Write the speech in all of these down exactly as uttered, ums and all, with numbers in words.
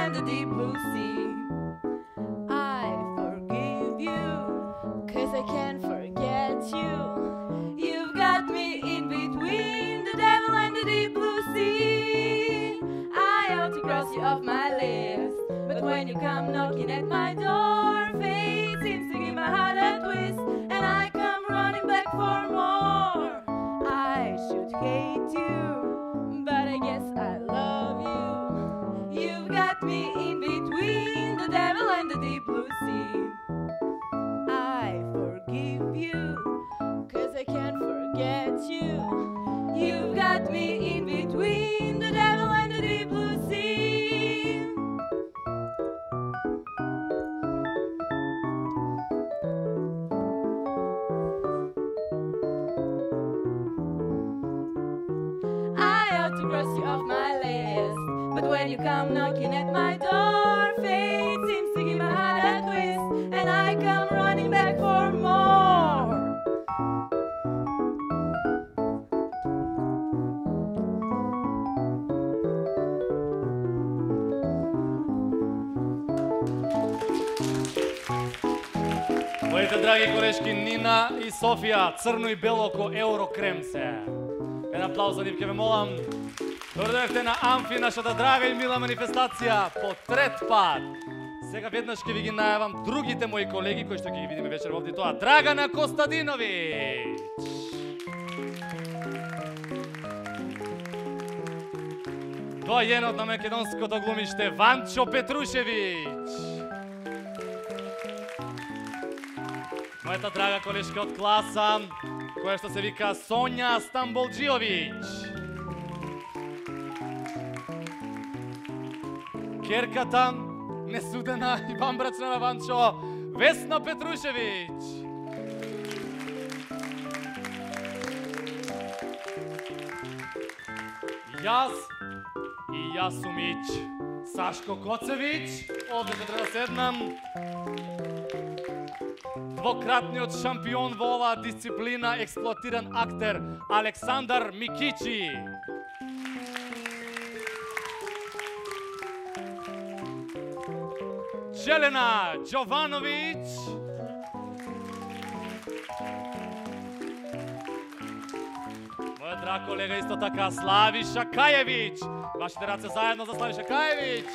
and the deep blue sea. I forgive you, cause I can't forget you. You've got me in between the devil and the deep blue sea. I ought to cross you off my list, but when you come knocking at my door, fate seems to give my heart a twist, and I come running back for more. I should hate you, but I guess I love you. You've got me in between the devil and the deep blue sea. I forgive you, cause I can't forget you. You've got me in between the devil and the deep blue sea. I ought to cross you off my list, but when you come knocking at my door, fate seems to give my heart a twist, and I come running back for more. Моите драги колешки Нина и Софија, црно и бело ко Еврокрем се. Еден аплауз за нив ке ве молам. Добре дојдовте на Амфи, нашата драга и мила манифестација по трет пат. Сега веднаш ќе ви ги најавам другите мои колеги кои што ќе ги видиме вечер овде, тоа Драгана Костадиновиќ. Доајенот на македонското глумиште Ванчо Петрушевиќ. Мојата драга колешка од класа, која што се вика Сонја Стамболџиовиќ. Керката, несудена и вамбрачна на Ванчо, Весна Петрушевиќ. Јас и Јасумиќ, Сашко Коцевиќ, овде ќе треба да седнам. Двократниот шампион во оваа дисциплина, експлоатиран актер Александар Микичи. Желена Джовановиќ. Мојот драг колега исто така Славиша Кајевиќ. Вашите раце заедно за Славиша Кајевиќ.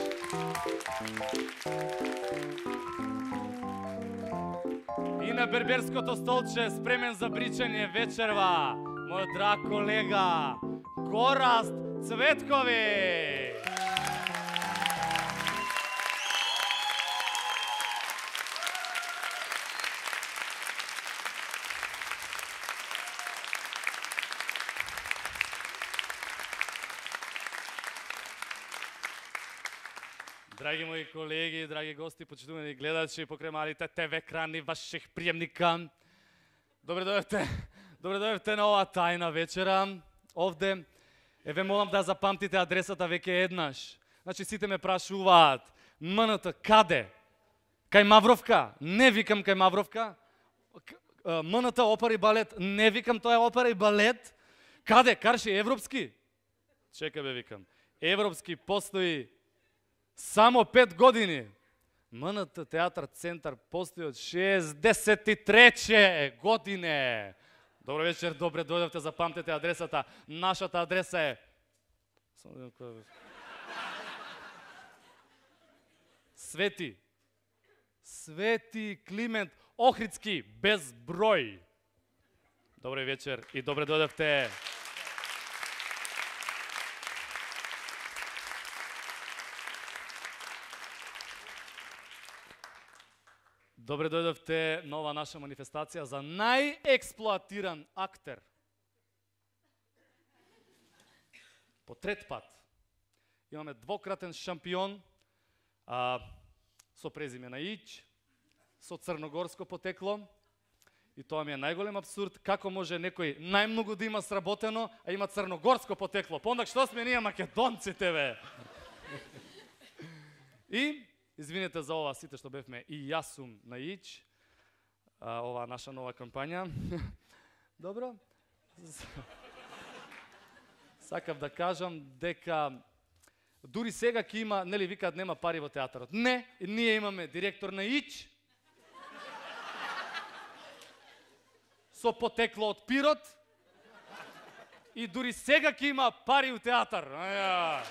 И на берберското столче, спремен за бричање вечерва, мојот драг колега Гораст Цветковиќ. Драги мои колеги, драги гости, почитувани гледачи, покрај малите те ве екрани ваших приемника. Добре дојдовте. Добре дојдовте на оваа тајна вечера. Овде е ве молам да запамтите адресата веќе еднаш. Значи сите ме прашуваат: М Н Т каде? Кај Мавровка? Не викам кај Мавровка. М Н Т опера и балет? Не викам, тоа е опера и балет. Каде? Карши европски? Чекај бе, викам. Европски постои само пет години. М Н Т Театар Центар постои од шеесдесет и трета година. Добро вечер, добре дојдовте, запамтете адресата. Нашата адреса е Свети Свети Климент Охридски без број. Добро вечер и добре дојдовте. Добре дојдовте на ова наша манифестација за најексплоатиран актер. По трет пат. Имаме двократен шампион а, со презиме на Иќ, со црногорско потекло. И тоа ми е најголем абсурд, како може некој најмногу да има сработено, а има црногорско потекло. Пондак што сме ние македонците, бе? И извинете за ова сите што бевме и јас сум на Иќ, ова наша нова кампања. Добро? Сакав да кажам дека Дури сега ќе има, нели викаат нема пари во театарот. Не, ние имаме директор на ИЧ, со потекло од Пирот, и дури сега ќе има пари у театар. Аја.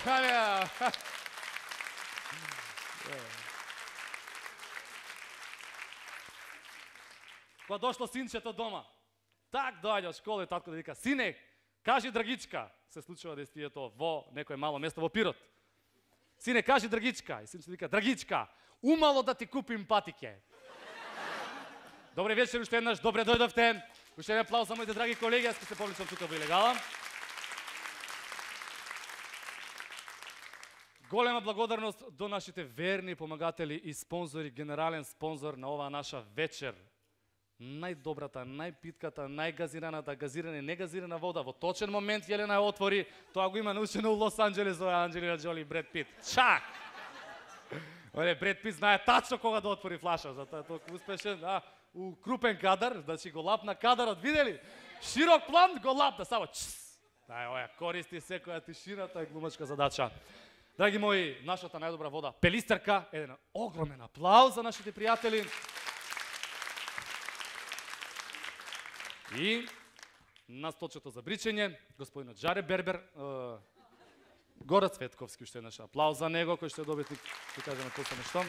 Аја. Кога дошло синчето дома, так доаѓа од школа и татко да вика: "Сине, кажи Драгичка." Се случува действието во некое мало место во Пирот. "Сине, кажи Драгичка." И синчето вика: "Драгичка, умало да ти купим патике." Добре вечер уште еднаш, добре дојдовте. Уште еден аплауз за моите драги колеги, јас ќе се повличам тука во Илегала. Голема благодарност до нашите верни помагатели и спонзори, генерален спонзор на оваа наша вечер. Најдобрата, најпитката, најгазираната, газирана и негазирана вода. Во точен момент Јелена ја отвори, тоа го има научено у Лос Анџелес, ова Анџелина Џоли и Бред Пит. Чак! Оле, Бред Пит знае тачно кога да отвори флаша, затоа е толку успешен. А, у крупен кадар, значи го лапна кадарот, видели? Широк план, го лапна, само чс! Дај, оја, користи секоја тишината и глумачка задача. Драги мои, нашата најдобра вода, Пелистерка, еден огромен аплауз за нашите пријатели. И на столчето за бричење, господинот Жаре Бербер, е, Гора Цветковски, уште еднаш аплауз за него, кој ще добитник, ќе кажеме после нешто.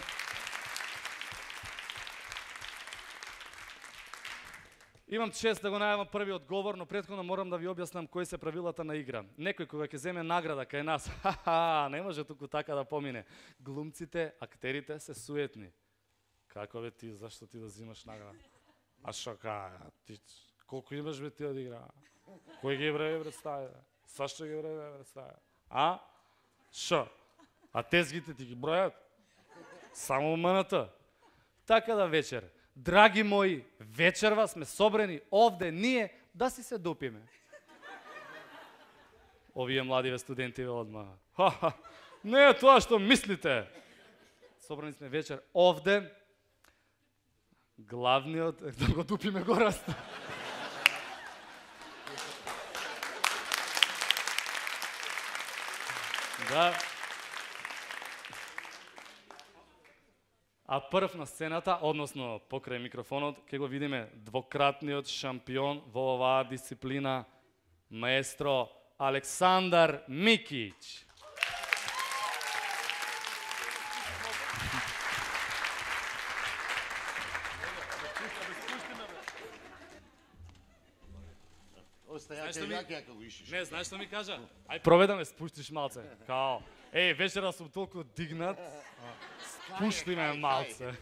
Имам чест да го најавам првиот говор, но претходно морам да ви објаснам кои се правилата на игра. Некој кога ќе земе награда кај нас, ха-ха, не може туку така да помине. Глумците, актерите се суетни. Како бе ти, зашто ти да взимаш награда? А шо ка, ти, колку имаш бе ти од игра? Кој ги време представи? Сашто ги време представи? А? Шо? А тезгите ти ги бројат? Само МНТ. Така да вечер, драги мои, вечерва сме собрани овде ние да си се допиме. Овие младиве студенти ве одма. Ха-ха, не е тоа што мислите. Собрани сме вечер овде. Главниот, да го дупиме гораст. Да. А прв на сцената, односно покрај микрофонот, ќе го видиме двократниот шампион во оваа дисциплина, маестро Александар Микиќ. Знаеш што ми... Не, знаеш што ми кажа? Ај пробај да ме спуштиш малце. Као, еј, вечера сум толку дигнат. Спушти ме малце.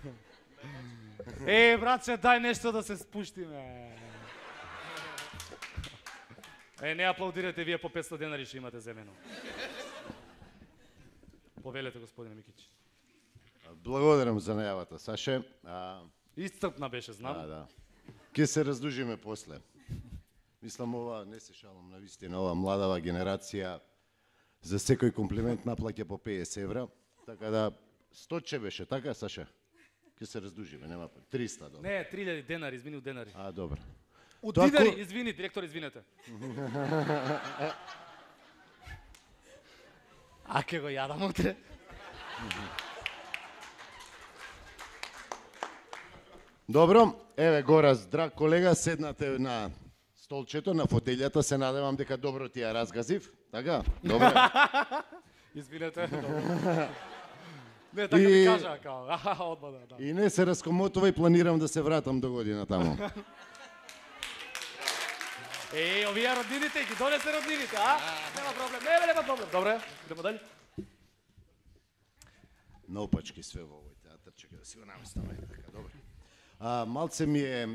Еј, братче, дај нешто да се спуштиме. Е, не аплаудирате, вие по петстотини денари ще имате земено. Повелете, господине Микиќ. Благодарам за најавата, Саше. А... Исцрпна беше, знам. Да, да. Ке се раздужиме после. Мислам, ова, не се шалам на вистина, ова младава генерација за секој комплимент наплаќа по петдесет евра, така да сто беше, така, Саша? Ке се раздужиме, нема триста, добро. Не, три илјади денари, извини, у денари. А, добро. У Тоа динари, ко... извини, директор, извинете. А ке го јадам утре? Добро, еве гора, здрав колега, седнате на столчето, на фотелјата, се надевам дека добро ти ја разгазив, така? Добро. Извинете, добро. Не, така и... ми кажа, као, аха, одмада, да. И не се раскомотува и планирам да се вратам до година таму. Е, овие роднините, ги донесе роднините, а? Нема проблем, не, нема проблем. Добре, идемо дали. Наопачки све во овој театар, чека да си го наместам, така, добро. А, малце ми е,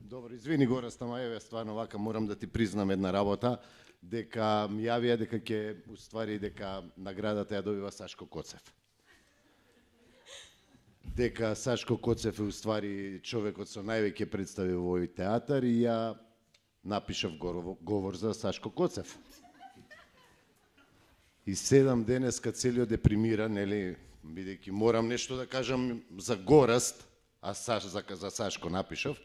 добро, извини гора, стама, еве, стварно вака морам да ти признам една работа, дека ми јавија дека ќе, уствари, дека наградата ја добива Сашко Коцев. Дека Сашко Коцев е уствари човекот со највеќе представи во овој театар и ја напишав говор за Сашко Коцев. И седам денеска целиот депримиран, нели, бидејќи морам нешто да кажам за Гораст, а Саш, за, за Сашко напишав.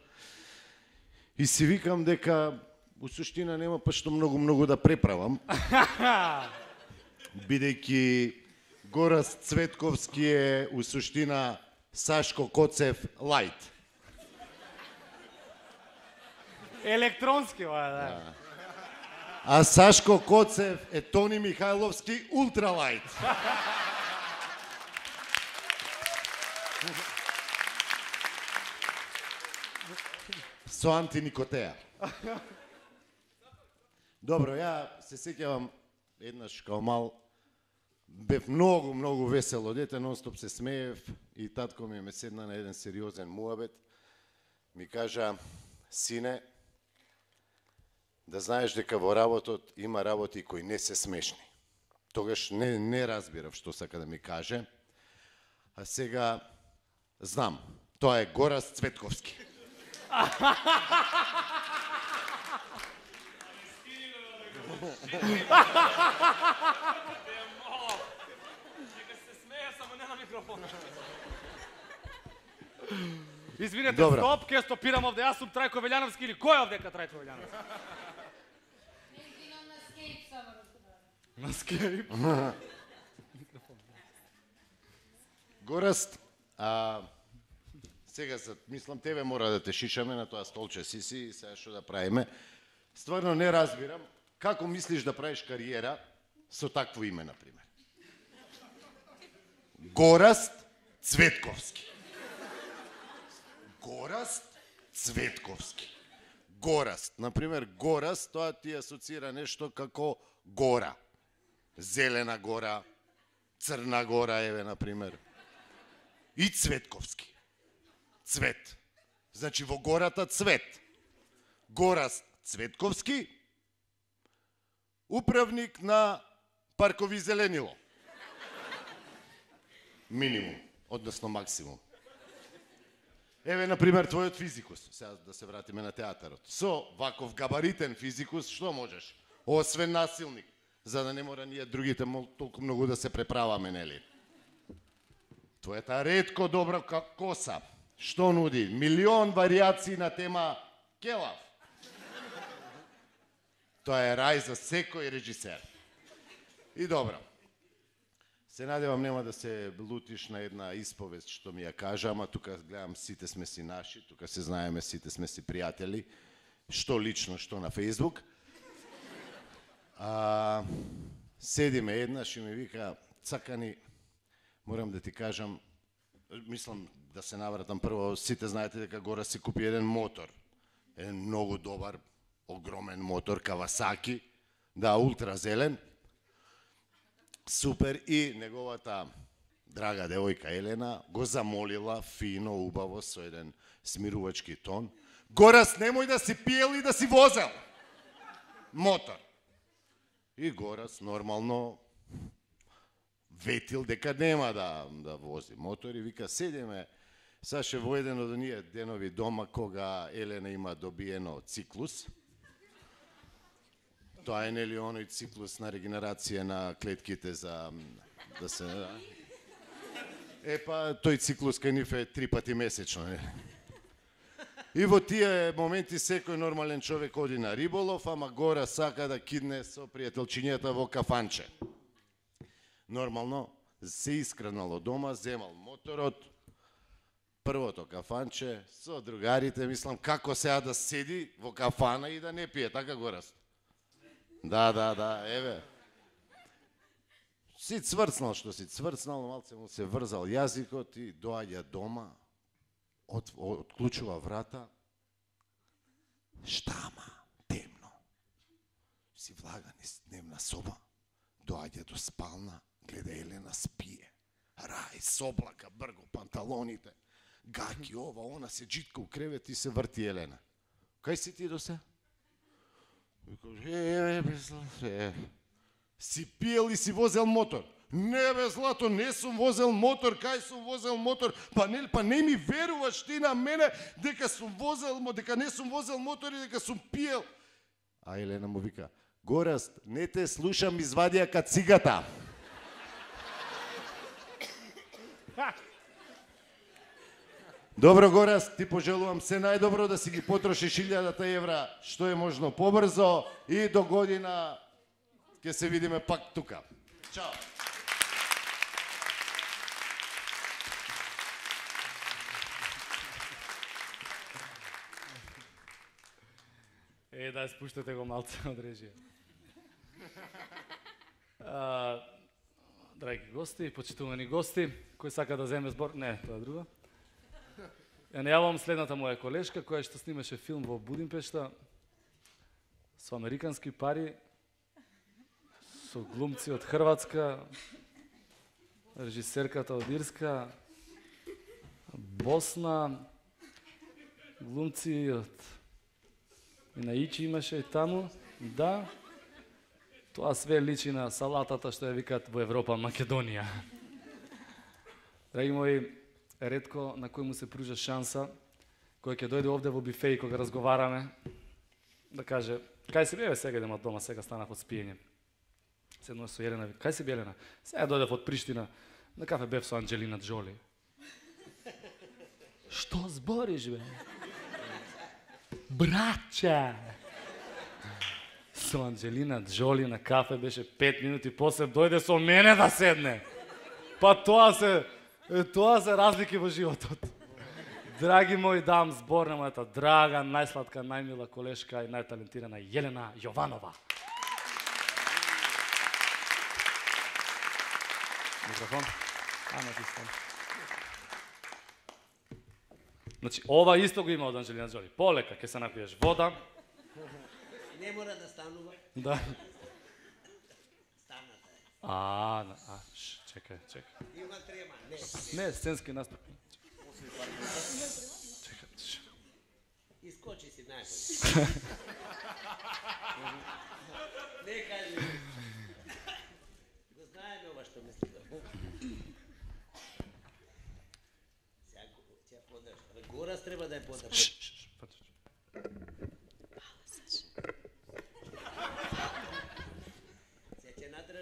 И си викам дека у суштина нема па што многу многу да преправам. бидејќи Гораст Цветковски е у суштина Сашко Коцев лајт. Електронски, ова, да. А Сашко Коцев е Тони Михајловски ултралајт. Со антиникотеа. Добро, ја се сеќавам еднаш као мал, бев многу, многу весело дете, нонстоп се смеев и татко ми ме седна на еден сериозен муабет. Ми кажа, сине, да знаеш дека во работот има работи кои не се смешни. Тогаш не, не разбирав што сака да ми каже. А сега знам, тоа е Гораст Цветковски. Извинете, Добра. стоп, ке стопирам овде, јас сум Трајко Велјановски или кој е овдека Трајко Велјановски? На скейп. Гораст, а, сега се, мислам, тебе мора да те шишаме на тоа столче си си и сега што да правиме. Стварно не разбирам, како мислиш да правиш кариера со такво име, например? Гораст Цветковски. Гораст Цветковски. Гораст, например, Гораст, тоа ти асоцира нешто како гора. Зелена гора, Црна гора, еве, например. И Цветковски. Цвет. Значи, во гората цвет. Гораст Цветковски, управник на паркови зеленило. Минимум, односно максимум. Еве, например, твојот физикус, сега да се вратиме на театарот. Со ваков габаритен физикус, што можеш? Освен насилник, за да не мора ние другите толку многу да се преправаме, нели? Твојата ретко добра коса, што нуди? Милион варијации на тема келав. Тоа е рај за секој режисер. И добро. Се надевам нема да се лутиш на една исповест што ми ја кажа, ама тука гледам сите сме си наши, тука се знаеме, сите сме си пријатели, што лично, што на Фејсбук. А, седиме еднаш и ми вика, цакани, морам да ти кажам, мислам да се навратам прво, сите знаете дека гора си купи еден мотор, еден многу добар, огромен мотор, Кавасаки, да, ултразелен, супер, и неговата драга девојка Елена го замолила фино, убаво, со еден смирувачки тон, Горас, немој да си пиел и да си возел мотор. И Горас нормално ветил дека нема да, да вози мотор и вика, седиме, Саше, во еден од оние денови дома кога Елена има добиено циклус. Тоа е нели оној циклус на регенерација на клетките за да се... Е па, тој циклус кај нив е три пати месечно. Не? И во тие моменти секој нормален човек оди на риболов, ама Гора сака да кидне со пријателчињата во кафанче. Нормално се искранало дома, земал моторот, првото кафанче, со другарите, мислам, како сега да седи во кафана и да не пие, така Горас? Да, да, да, еве. Си цврцнал што си цврцнал, малце му се врзал јазикот и доаѓа дома, от, отклучува врата. Штама, темно. Си влага низ дневна соба, доаѓа до спална, гледа Елена спие. Рај, соблака, брго, панталоните, гаки, ова, она, се джитка у кревет и се врти Елена. Кај си ти до се? Е, е, е, си пиел и си возел мотор. Не бе, злато, не сум возел мотор, кај сум возел мотор? Па не, па не ми веруваш ти на мене дека сум возел, дека не сум возел мотор и дека сум пиел. А Елена му вика, Гораст, не те слушам, извадија кацигата. Добро, Гораст, ти пожелувам се најдобро, да си ги потрошиш илјадата евра што е можно побрзо и до година ќе се видиме пак тука. Чао. Е, да, спуштате го малце од режија. А, драги гости, почитувани гости, кој сака да земе збор... Не, тоа е друго. Ја најавувам следната моја колешка, која што снимаше филм во Будимпешта со американски пари, со глумци од Хрватска, режисерката од Ирска, Босна, глумци од и на Ичи имаше и таму, да. Тоа све личи на салатата што ја викаат во Европа Македонија. Драги мои, ретко на кој му се пружа шанса, кој ќе дојде овде во бифеј кога разговараме, да каже, кај си бе, сега идем од дома, сега станав од спиење. Седнуваш со Елена, кај си бе, Елена? Сега дојдев од Приштина, на кафе бев со Анџелина Джоли. Што збориш, бе? Браќа! Со Анџелина Джоли на кафе беше пет минути, после дојде со мене да седне. Па тоа се, тоа се разлики во животот. Драги мои, дам збор на мојата драга, најсладка, најмила колешка и најталентирана Јелена Јованова. Микрофон. Ама ти стан. Значи, ова исто го има од Анџелина Джоли. Полека, ќе се напиеш вода. Не мора да станува. Да. Станата е. А, а, ш, чекај, чекај. Има трема, не. Не, сценски наступ. Чекај, ш. Искочи си најбоље. Не кажи. Го знаеме ова што мисли. Сега ќе подршка. Горас треба да ја подршка.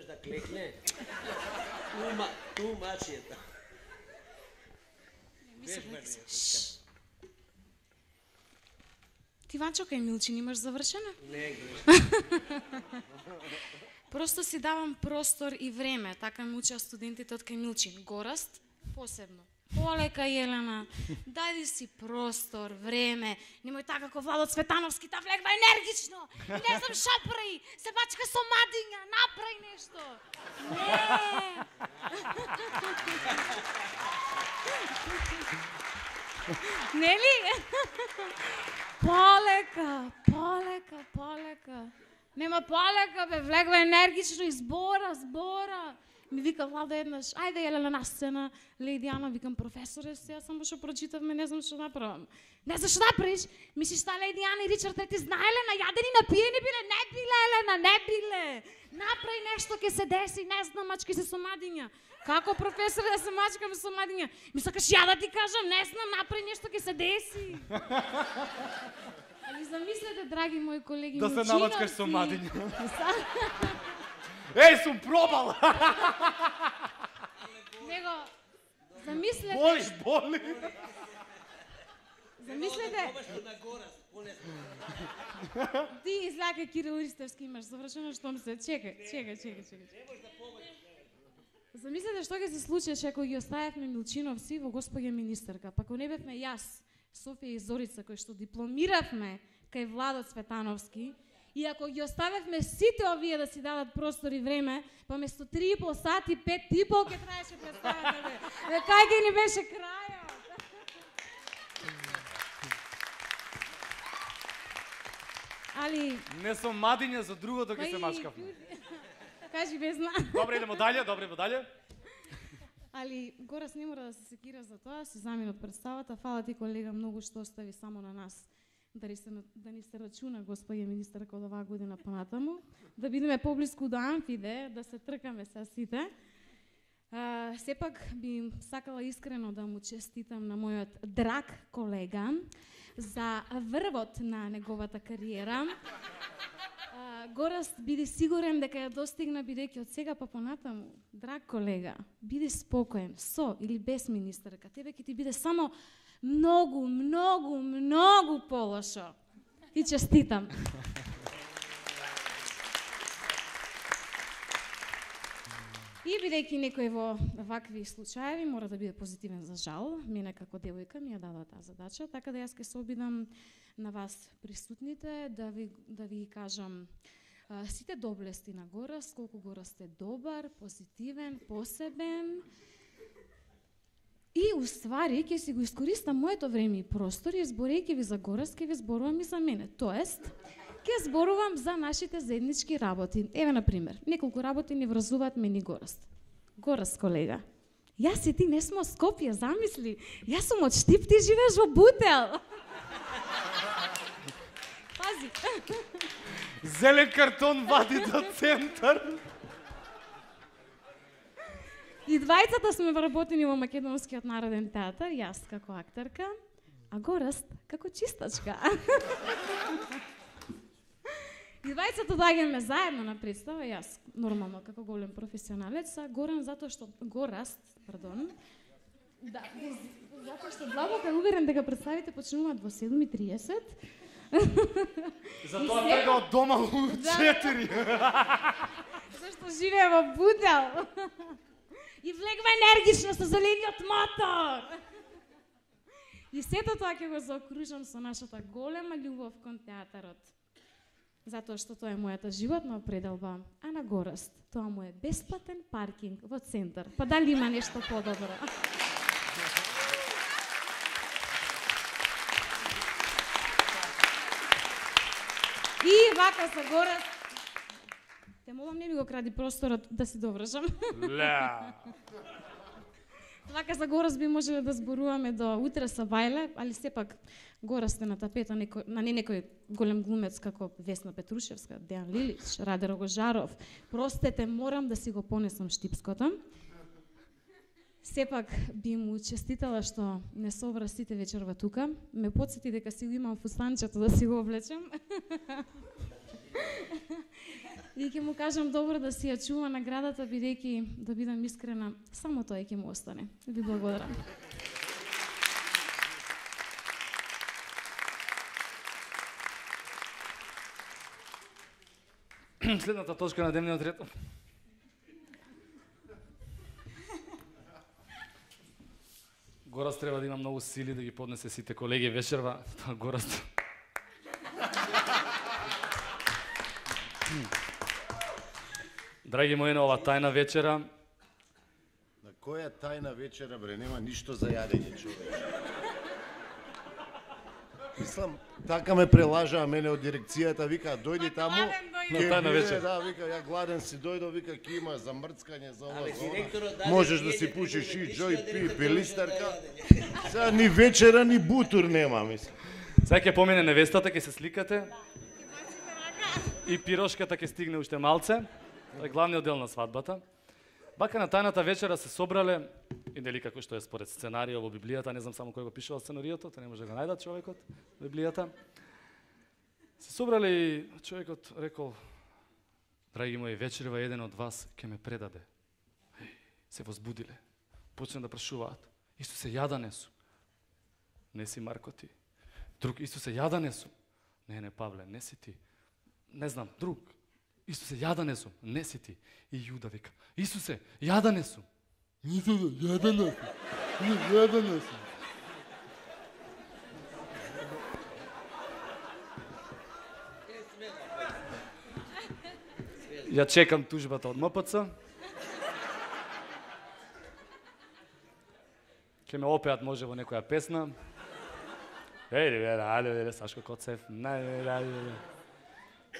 Да клекне. Тума, тумачијата. Ти, Ванчо, кај Милчин имаш завршено? Не, греш. Просто си давам простор и време, така ме учат студентите од кај Милчин. Гораст, посебно. Полека, Јелена, дајди си простор, време, немој така како Владо Цветановски, та влегва енергично, не знам шо прави, се бачка со мадиња, направи нешто. Не. Нели? Полека, полека, полека. Нема полека, бе, влегва енергично и збора, збора. Ми вика Владо еднаш, ајде Елена на сцена, Леди Ана, викам професоре, сега само што прочитавме, не знам што направам. Не знам што направиш? Мислиш та Леди Ана и Ричард ти знае Елена, јадени напиени биле, не биле Елена, не биле. Направи нешто ќе се деси, не знам, мачки се со мадиња. Како професор да се мачкам со мадиња? Ми сакаш ја да ти кажам, не знам, направи нешто ќе се деси. Али замислете, драги мои колеги, да се намачкаш со мадиња. Еј, сум пробал! Него, замислете... Болиш, боли! Замислете... на Горас, полесно. Ти излака Кирил Ристевски имаш завршено, што ми се... Чекај, чекај, чекај, чекај. Замислете што ќе се случеше ако ги оставевме Милчиновци во господја министерка, па ако не бевме јас, Софија и Зорица, кои што дипломиравме кај Владо Цветановски, и ако ги оставевме сите овие да си дадат простор и време, па место три и пол сати, пет и пол ке траеше представата, бе. Кај ке ни беше крајот? Али... Не сум мадиња, за другото ќе се мачкавме. Кажи без зна. Добре, идемо дале, добре, идемо дале. Али Горас не мора да се секира за тоа, се замина од представата. Фала ти, колега, многу што остави само на нас. Да ни се, да ни се рачуна, господја министерка, од оваа година понатаму, да бидеме поблиску до Амфиде, да се тркаме са сите. А, сепак би сакала искрено да му честитам на мојот драг колега за врвот на неговата кариера. А, Гораст, биди сигурен дека ја достигна, бидејќи од сега па понатаму, драг колега, биди спокоен, со или без министерка, тебе ќе ти биде само многу, многу, многу полошо. И честитам. И бидејќи некој во вакви случаеви мора да биде позитивен за жал, мене како девојка ми ја дадоа таа задача, така да јас ќе се обидам на вас присутните да ви да ви кажам а, сите доблести на Гораст, колку Гораст е добар, позитивен, посебен. И уствари ќе си го искористам моето време и простор и зборејќи ви за Гораст, ќе ви зборувам и за мене. Тоест, ќе зборувам за нашите заеднички работи. Еве, например, неколку работи ни врзуваат мене и Гораст. Гораст, колега, јас и ти не сме од Скопје, замисли. Јас сум од Штип, ти живееш во Бутел. Пази. Зелен картон вади до центар. И двајцата сме вработени во Македонскиот народен театар, јас како актерка, а Гораст како чистачка. И двајцата доаѓаме заедно на представа, јас нормално како голем професионалец, а Горан затоа што Гораст, пардон, да, затоа што длабоко е уверен дека представите почнуваат во седум и триесет. Затоа трга од дома у четири. Зашто живее во Бутел. И влегва енергично со зелениот мотор. И сето тоа ќе го заокружам со нашата голема љубов кон театарот. Затоа што тоа е мојата животна определба, а на Гораст тоа му е бесплатен паркинг во центар. Па дали има нешто подобро? И вака со Гораст, те молам не ми го кради просторот да си довршам. Ля. Вака за Гораст би можеле да зборуваме до утре со Бајле, али сепак Гораст е на тапета некој, на не некој голем глумец како Весна Петрушевска, Дејан Лилич, Раде Рогожаров. Простете, морам да си го понесам штипското. Сепак би му честитала што не собра сите вечерва тука. Ме потсети дека си го имам фустанчето да си го облечем. И ќе му кажам добро да си ја чува наградата, бидејќи, да бидам искрена, само тоа ќе му остане. Ви благодарам. Следната точка на дневниот ред. Гораст треба да има многу сили да ги поднесе сите колеги вечерва. Тоа Гораст. Драги мои, на ова тајна вечера. На која тајна вечера, бре, нема ништо за јадење, човек. Мислам, така ме прелажаа мене од дирекцијата, вика, дојди таму. На тајна вечер. Да, вика, ја гладен си дојдо, вика, ќе има за мрцкање, за ова, Абе, за ова. директорот даде Можеш да једе си пушиш и прилично џој, да пи, не пилистарка. даде. Сега ни вечера, ни бутур нема, мислам. Сега ќе помине невестата, ќе се сликате. И пирошката ќе стигне уште малце. Тоа е главниот дел на свадбата. Бака на тајната вечера се собрале, и дали како што е според сценарио во Библијата, не знам само кој го пишувал сценариото, тоа не може да го најдат човекот во Библијата. Се собрале и човекот рекол: драги мои, вечерва еден од вас ќе ме предаде. Се возбудиле. Почна да прашуваат: Исусе, ја да не сум? Не си, Марко, ти. Друг: Исусе, ја да не сум? Не, не, Павле, не си ти. Не знам, друг: Исусе, ја да не сум? Не си ти. И Јуда вика: Исусе, ја да не сум? Исусе, ја да не сум? Ја да не сум? Ја чекам тужбата од М П Ц. Ке ме опеат може во некоја песна. Ејде, бе, ајде, бе, Сашко Коцев.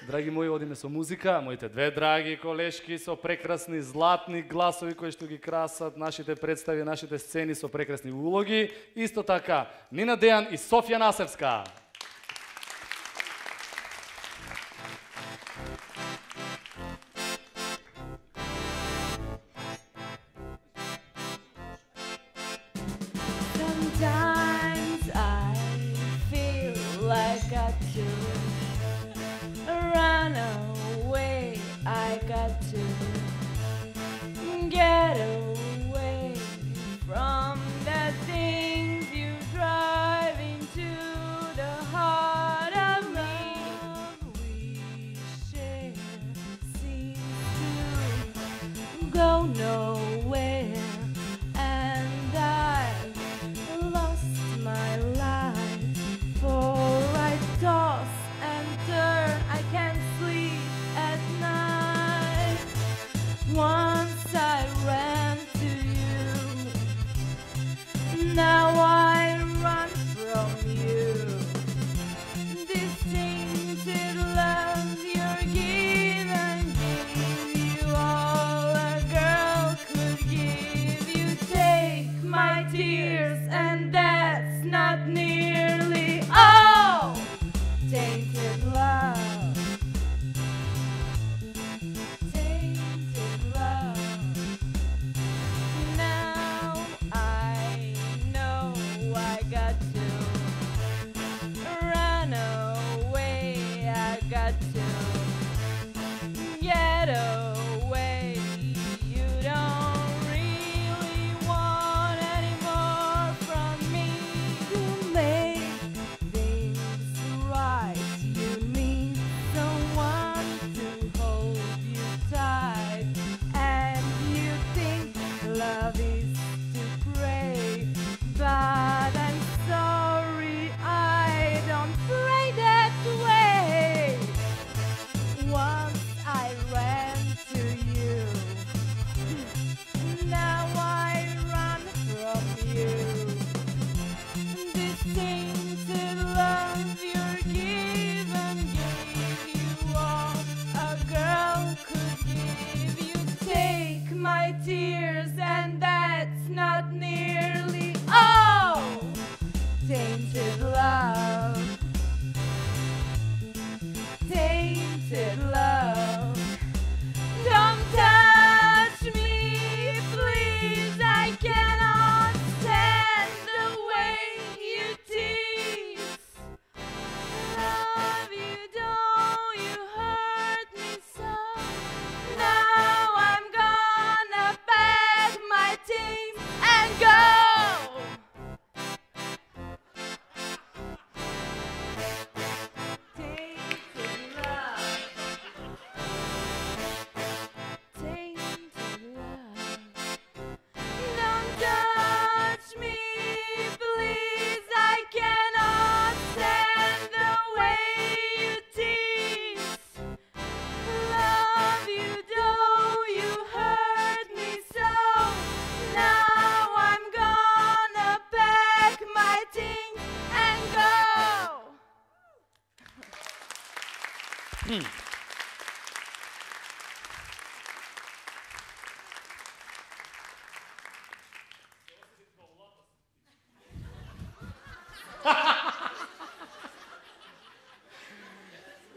Драги мои, одиме со музика. Моите две драги колешки со прекрасни златни гласови кои што ги красат нашите представи, нашите сцени со прекрасни улоги. Исто така, Нина Дејан и Софија Насевска. Sometimes I feel like I should run away. I got to get away from the things you drive into the heart of me. We share seems to go no Now I run from you. This tainted love you're giving, give you all a girl could give. You take my tears, and that's not nearly all. Tainted love, tainted love. Now I know I got to run away. I got to get away. You don't really want any more from me. To make things right, you need someone to hold you tight. And you think love is to pray, but I'm sorry, I don't pray that way. Once I ran to you, now I run from you. This tainted love you're given, gave you all a girl could give. You take my tears, and that's not nearly all. Tainted love, tainted love. Don't touch me, please. I cannot stand the way you tease. Love you, don't you hurt me so. Now I'm gonna pack my things and go. Tainted love, tainted love. Don't touch me, please. I cannot stand the way you tease. Love you, though you hurt me so. Now I'm gonna pack my things and go.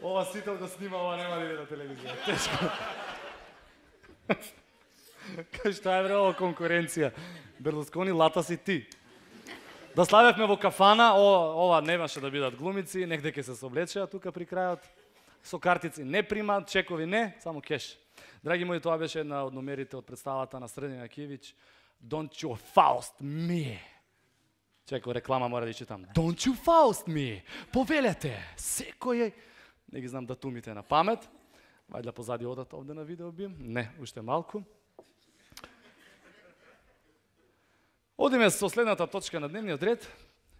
Ова Сител го снима, ова нема да иде на телевизија. Тешко. Кај што е бре ова конкуренција? Берлускони, лата си ти. Да славевме во кафана, о, ова немаше да бидат глумици, негде ќе се соблечеа тука при крајот. Со картици не примаат, чекови не, само кеш. Драги мои, тоа беше една од номерите од представата на Срдин Јакивиќ. Don't you Faust me. Чекај, реклама мора да читам. Don't you Faust me. Повелете, секој... Не ги знам датумите на памет. Вајде позади одат овде на видео би. Не, уште малку. Одиме со следната точка на дневниот ред,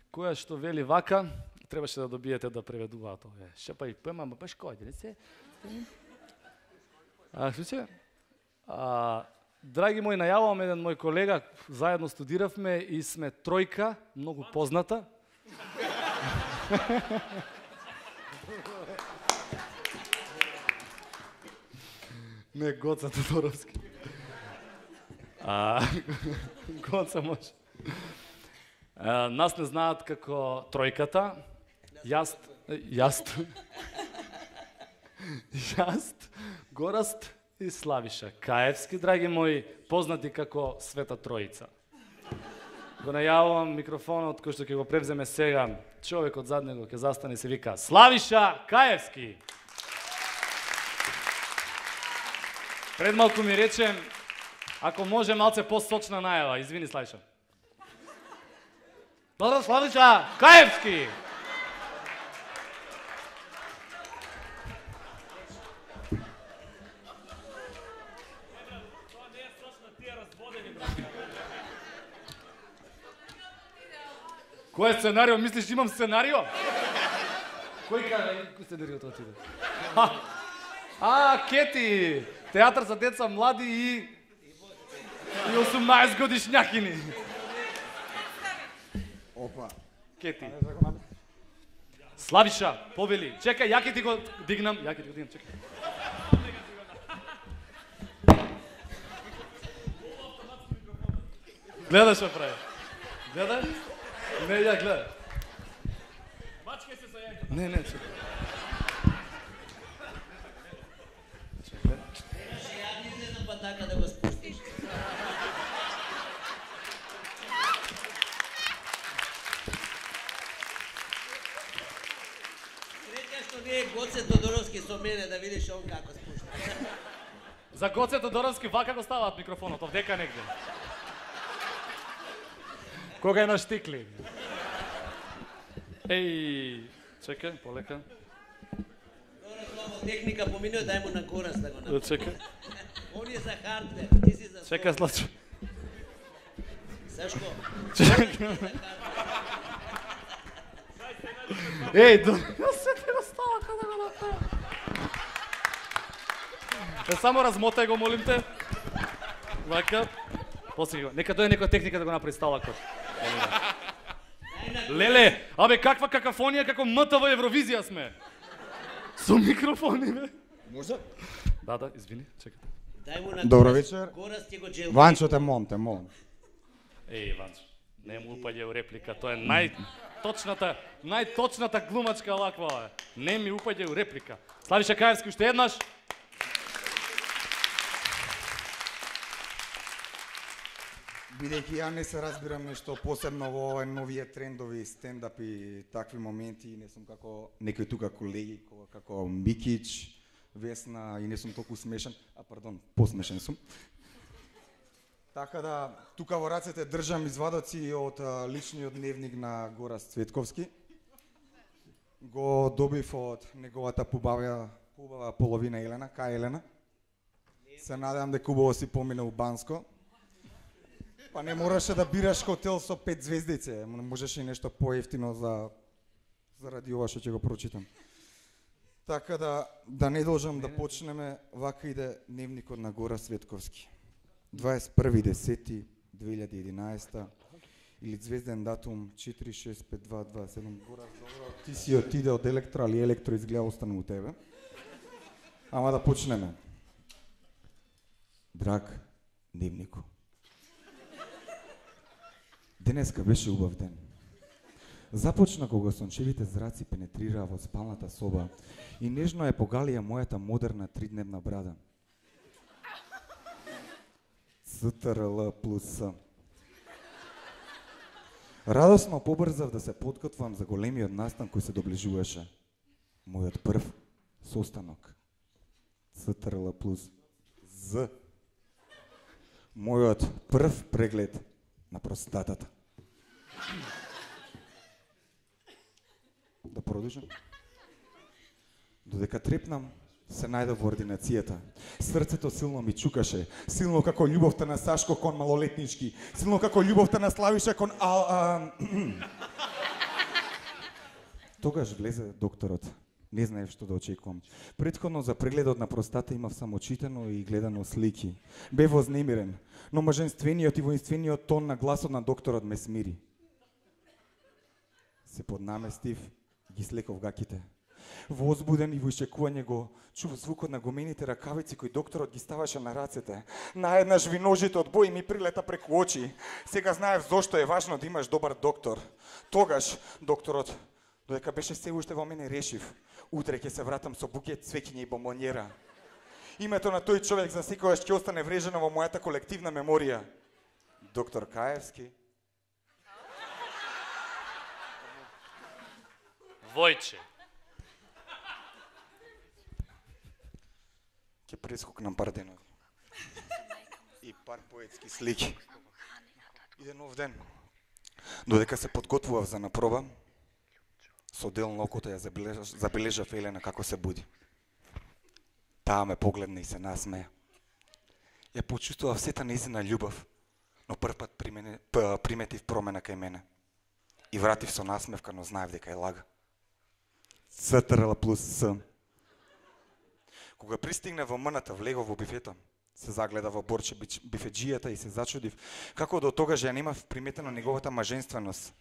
која што вели вака, требаше да добиете да преведуваат овие. Шепа и пема, ма баш кој, не се? А, слушај? А, драги мои, најавувам еден мој колега, заедно студиравме и сме тројка, многу позната. Не, Гоца Тодоровски. А, Гоца може. А, нас не знаат како тројката. Јаст, јаст, јаст, Гораст и Славиша Каевски, драги мои, познати како Света Тројица. Го најавувам микрофонот кој што ќе го превземе сега, човекот зад него ќе застане и се вика Славиша Каевски. Пред малку ми рече, ако може малце посочна најава, извини Славиша. Добро, Славиша Каевски! Кој е сценарио? Мислиш имам сценарио? Кој кажа? Кој сценарио тоа ти иде? А, Кети! Театар за деца млади и... и осумнаесет годишњакини. Опа. Кети. Славиша, повели. Чекај, ја ќе ти го дигнам, ја ќе ти го дигнам, чекај. Гледаш што прави. Гледај? Не, ја гледај. Мачкај се со јајка. Не, не, чекај. Чекај. Ја не излезам па така да го спустиш. Среќа што не е Гоце Тодоровски со мене да видиш он како спушта. За Гоце Тодоровски вака го ставаат микрофонот, овдека негде. Кога е на штикли. Еј, чекај, полека. Добро, Славо, техника поминува, дај му на корас да го направи. Чекај. Он е за хардвер, ти си за Чекај, Слачо. Сашко. Чекај. Еј, до... Јас се ти го става кога го направи. Е, само размотај го, молим те. Вака. После го. Нека дојде некоја техника да го направи сталакот. Леле, абе каква какафонија, како М Т В Евровизија сме. Со микрофони, бе. Може? Да, да, извини, чекај. Дај му на Добро корас. вечер. Корас ќе го джелфи. Ванчо те мом, те мом. Еј, Ванчо, не му упаѓа у реплика, тоа е најточната, најточната глумачка лаква, е. Не ми упаѓа у реплика. Славиша Каевски, уште еднаш. Бидејќи ја не се разбирам нешто посебно во овие новие трендови, стендап и такви моменти, не сум како некои тука колеги, ко- како Микич, Весна и не сум толку смешен, а пардон, посмешен сум. Така да, тука во рацете држам извадоци од а, личниот дневник на Горас Цветковски. Го добив од неговата побава, побава половина Елена, кај Елена. Се надевам дека убаво си помина у Банско. Па не мораше да бираш хотел со пет звездице, можеше и нешто поевтино за заради ова што ќе го прочитам. Така да да не должам да почнеме, вака иде дневникот на Гора Светковски. дваесет и први десети две илјади и единаесета или звезден датум четири шест пет два два седум. Гора, добро, ти си отиде од Електро, али Електро изгледа остана у тебе. Ама да почнеме. Драг дневнико. Денеска беше убав ден. Започна кога сончевите зраци пенетрираа во спалната соба и нежно е погалија мојата модерна тридневна брада. С Т Р Л плюс С. Радосно побрзав да се подготвам за големиот настан кој се доближуваше. Мојот прв состанок. С Т Р Л плюс З. Мојот прв преглед на простатата. Да продолжам? Додека трепнам, се најдов во ординацијата. Срцето силно ми чукаше, силно како љубовта на Сашко кон малолетнички, силно како љубовта на Славиша кон ал... А... Тогаш влезе докторот. Не знаев што да очекувам. Претходно за прегледот на простата имав само читано и гледано слики. Бев вознемирен, но маженствениот и воинствениот тон на гласот на докторот ме смири. Се поднаместив, ги слеков гаките. Возбуден и во исчекување го чув звукот на гомените ракавици кои докторот ги ставаше на рацете. Наеднаш виножите од бој ми прилета преку очи. Сега знаев зошто е важно да имаш добар доктор. Тогаш докторот, додека беше се уште во мене, решив: утре ќе се вратам со букет цвеќиња и бомбонјера. Името на тој човек за секогаш ќе остане врежено во мојата колективна меморија. Доктор Каевски. Војче. Ќе прескокнам пар денови. И пар поетски слики. Иде нов ден. Додека се подготвував за напроба, со дел на окото ја забележав, забележав Елена како се буди. Таа ме погледна и се насмеја. Ја почувствував сета нејзина љубов, но првпат приметив промена кај мене. И вратив со насмевка, но знаев дека е лага. С Т Р Л плюс С. Кога пристигна во мната, влегов во бифето. Се загледа во борче бифеджијата и се зачудив како до тогаш ја немав приметено неговата маженственост.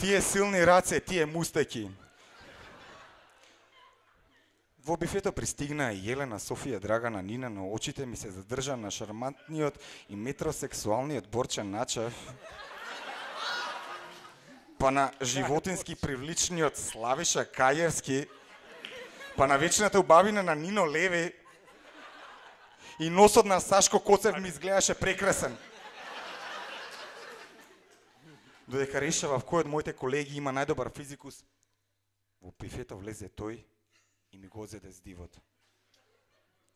Тие силни раце, тие мустаки. Во бифето пристигна и Елена, Софија, Драгана, Нина, но очите ми се задржа на шармантниот и метросексуалниот Борче Начев, па на животински привличниот Славиша Кајевски, па на вечната убавина на Нино Леви и носот на Сашко Коцев ми изгледаше прекрасен. Додека решава в кој од моите колеги има најдобар физикус, во бифето влезе тој и ми го одзеде с дивот.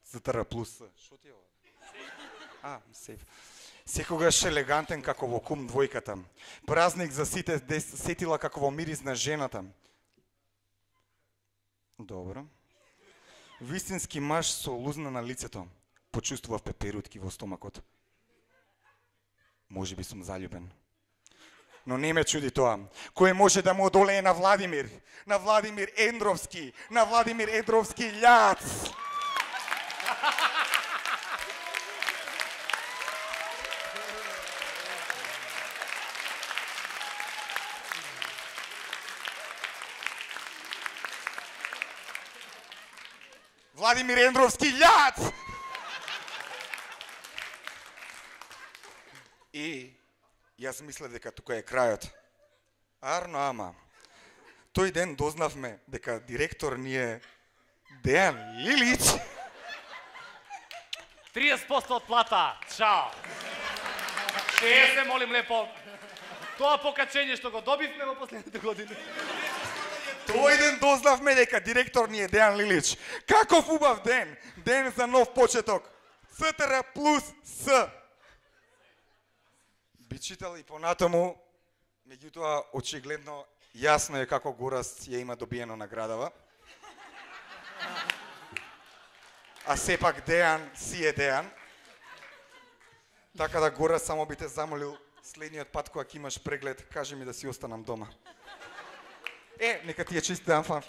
Затара плюс С. Шо ти е ова? А, сейф. Секогаш елегантен како во Кум двојката. Празник за сите сетила како во Мирис на жената. Добро. Вистински маж со лузна на лицето. Почувствував пеперутки во стомакот. Може би сум заљубен. Но не ме чуди тоа. Кој може да му одолее на Владимир? На Владимир Ендровски, на Владимир Ендровски љац. Владимир Ендровски љац. И јас мислев дека тука е крајот. Арно, ама. Тој ден дознавме дека директор ни е Дејан Лилич. триесет проценти од плата. Чао. Е, се молим лепо. Тоа покачење што го добивме во последните години. Тој ден дознавме дека директор ни е Дејан Лилич. Каков убав ден. Ден за нов почеток. ЦТР плюс С. Би читал и понатаму, меѓутоа очигледно јасно е како Гораст ја има добиено наградава. А сепак Дејан си е Дејан. Така да Гораст само би те замолил следниот пат кога ќе имаш преглед, кажи ми да си останам дома. Е, нека ти е чист ден, фан.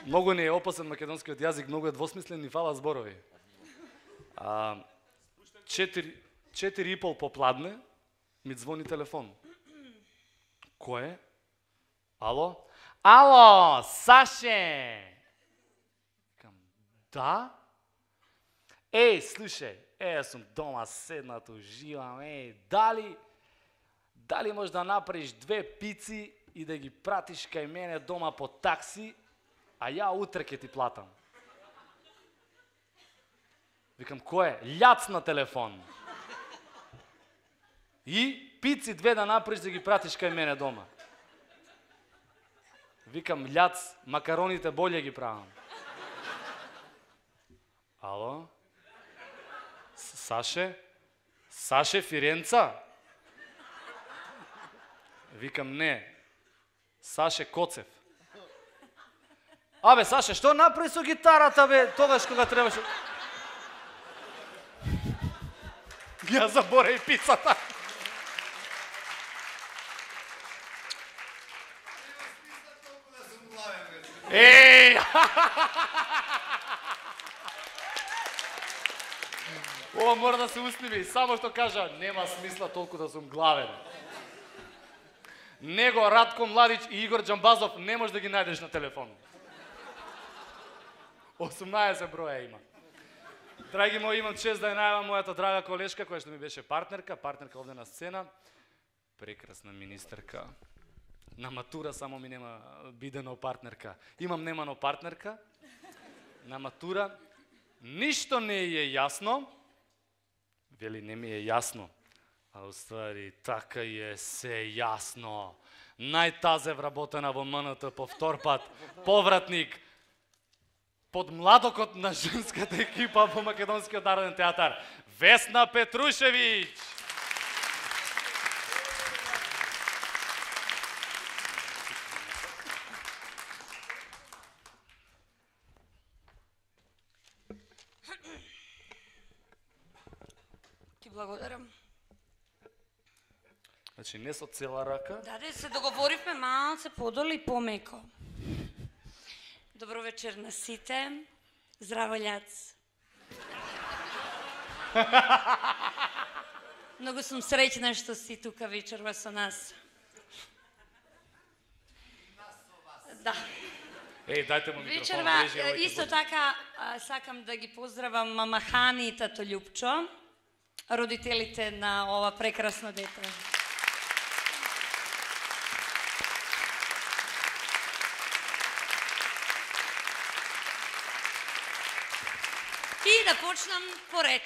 Многу не е опасен македонскиот јазик, многу е двосмислен и фала зборови. А, четири, четири и пол попладне ми звони телефон. Кој е? Ало? Ало, Саше! Кам, да? Еј, слушај, е, јас сум дома седнат, уживам, еј, дали, дали можеш да направиш две пици и да ги пратиш кај мене дома по такси, а ја утре ќе ти платам. Викам, кој е? Љац на телефон. И пици две да направиш да ги пратиш кај мене дома. Викам, љац, макароните болje ги правам. Ало? Саше? Саше Фиренца? Викам, не. Саше Коцев. Абе, Саше, што направи со гитарата, бе, тогаш кога требаше? Ја заборави пицата. Еј! Ова мора да се усними, само што кажа, нема смисла толку да сум главен. Него, Радко Младич и Игор Џамбазов не можеш да ги најдеш на телефон. осумнаесет броја има. Драги мои, имам чест да ја најавам мојата драга колешка, која што ми беше партнерка, партнерка овде на сцена, прекрасна министерка. На матура само ми нема бидено партнерка. Имам немано партнерка. На матура ништо не е јасно. Вели, не ми е јасно. А уствари, така е се јасно. Најтазев работена во М Н Т по втор пат, повратник, под младокот на женската екипа во Македонскиот народен театар, Весна Петрушевиќ. Ти благодарам. Значи не со цела рака. Да, да, се договоривме малце подолу и помеко. Добро вечер на сите. Здраво, љац. Многу сум среќна што си тука вечерва со нас. Да. Еј, дајте му микрофон, Вечерва, ближи, овој исто ќе така, а, сакам да ги поздравам мама Хани и тато Љупчо, родителите на ова прекрасно дете. И да почнам поред.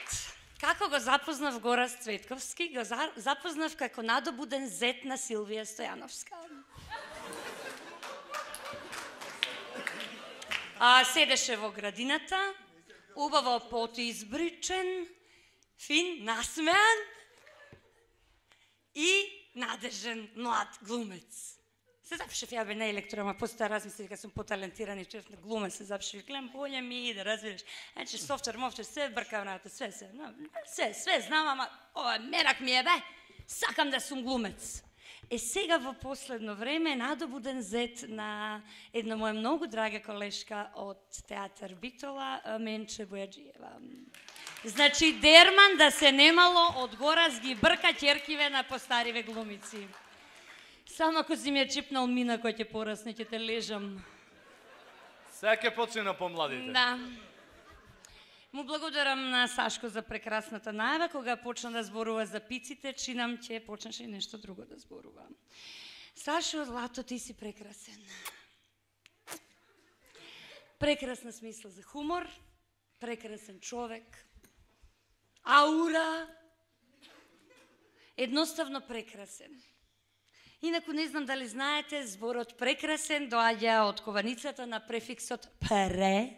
Како го запознав Гораст Цветковски? Го за, запознав како надобуден зет на Силвија Стојановска. А, седеше во градината, убаво потоизбричен, фин, насмеан и надежен млад глумец. Се запишев ја бе на електро, ама после размислив дека сум поталентиран и чеф на глумец, се запишев, гледам, болje ми иде, разбираш. Значи, софтвер, мофтвер, све бркам работа, све, све, no, све, све знам, ама ова мерак ми е бе, сакам да сум глумец. Е сега во последно време надобуден зет на една моја многу драга колешка од театар Битола, Менче Бојаджиева. Значи, дерман да се немало од Горас ги брка ќеркиве на постариве глумици. Само ако си ми е чипнал мина кој ќе порасне, ќе те лежам. Сега ќе почне на помладите. Да. Му благодарам на Сашко за прекрасната најава, кога почна да зборува за пиците, чинам ќе почнеше и нешто друго да зборува. Сашо, злато, ти си прекрасен. Прекрасна смисла за хумор, прекрасен човек, аура, едноставно прекрасен. Инаку не знам дали знаете, зборот прекрасен доаѓа од кованицата на префиксот пре,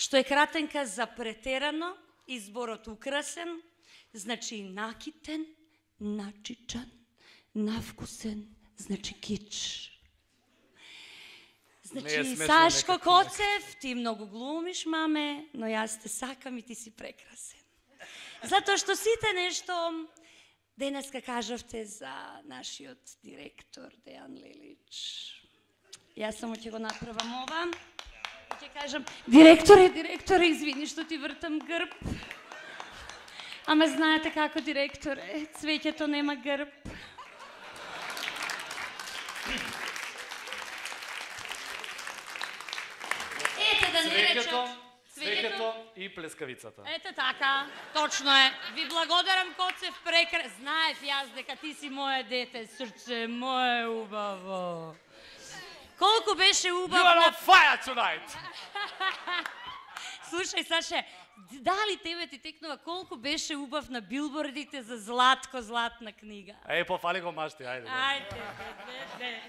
што е кратенка за претерано, и зборот украсен, значи накитен, начичан, навкусен, значи кич. Значи, Сашко Коцев, ти многу глумиш, маме, но јас те сакам и ти си прекрасен. Затоа што сите нешто денеска кажавте за нашиот директор Дејан Лелич. Јас само ќе го направам ова. Ќе кажам, директоре, директоре, извини што ти вртам грб. Ама знаете како, директоре, цвеќето нема грб. Ете да не речат. Цвеќето и плескавицата. Ете така, точно е. Ви благодарам, Коцев, прекра... Знаев јас дека ти си мое дете, срце, мое убаво. Колку беше убав... You are on fire tonight! Слушај, Саше, дали тебе ти текнува колку беше убав на билбордите за Златко, златна книга? Еј, пофали го машти, ајде. Ајде, де, де, де.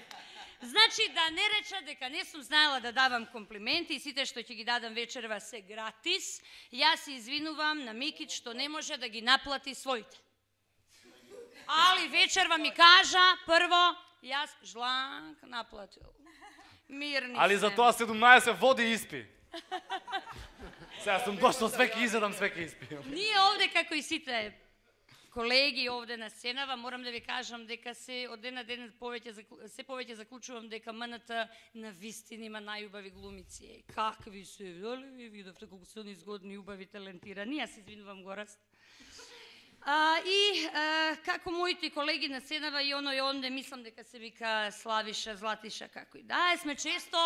Значи, да не реча дека не сум знаела да давам комплименти и сите што ќе ги дадам вечерва се гратис, јас се извинувам на Микич што не може да ги наплати своите. Али вечерва ми кажа, прво, јас жланк наплатил. Мирни Али се. за тоа седумнаесет води испи. Сега сум дошол, све ќе изедам, све ќе испијам. Ние овде, како и сите колеги овде на сценава, морам да ви кажам дека се од ден на ден повеќе се повеќе заклучувам дека МНТ на вистина има најубави глумици. Е, какви се, дали ви видовте колку се они згодни, убави, талентирани. Јас се извинувам, Гораст. А, и а, како моите колеги на сценава и оно и онде, мислам дека се вика Славиша, Златиша, како и да, сме често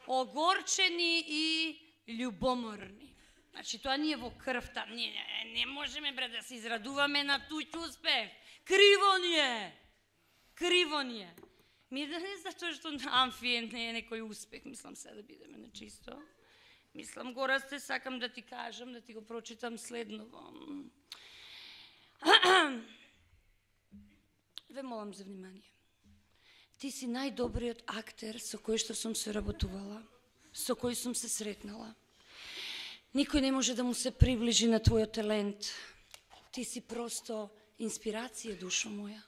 огорчени и љубоморни. Значи, тоа ние во крвта, ние не, не можеме бре да се израдуваме на туѓ успех. Криво ни е. Криво ни е. Ми да не затоа што Амфи не е некој успех, мислам се да бидеме на чисто. Мислам, Горасте, сакам да ти кажам, да ти го прочитам следново. Ве молам за внимание. Ти си најдобриот актер со кој што сум се работувала, со кој сум се сретнала. Никој не може да му се приближи на твојот талент. Ти си просто инспирација, душо моја.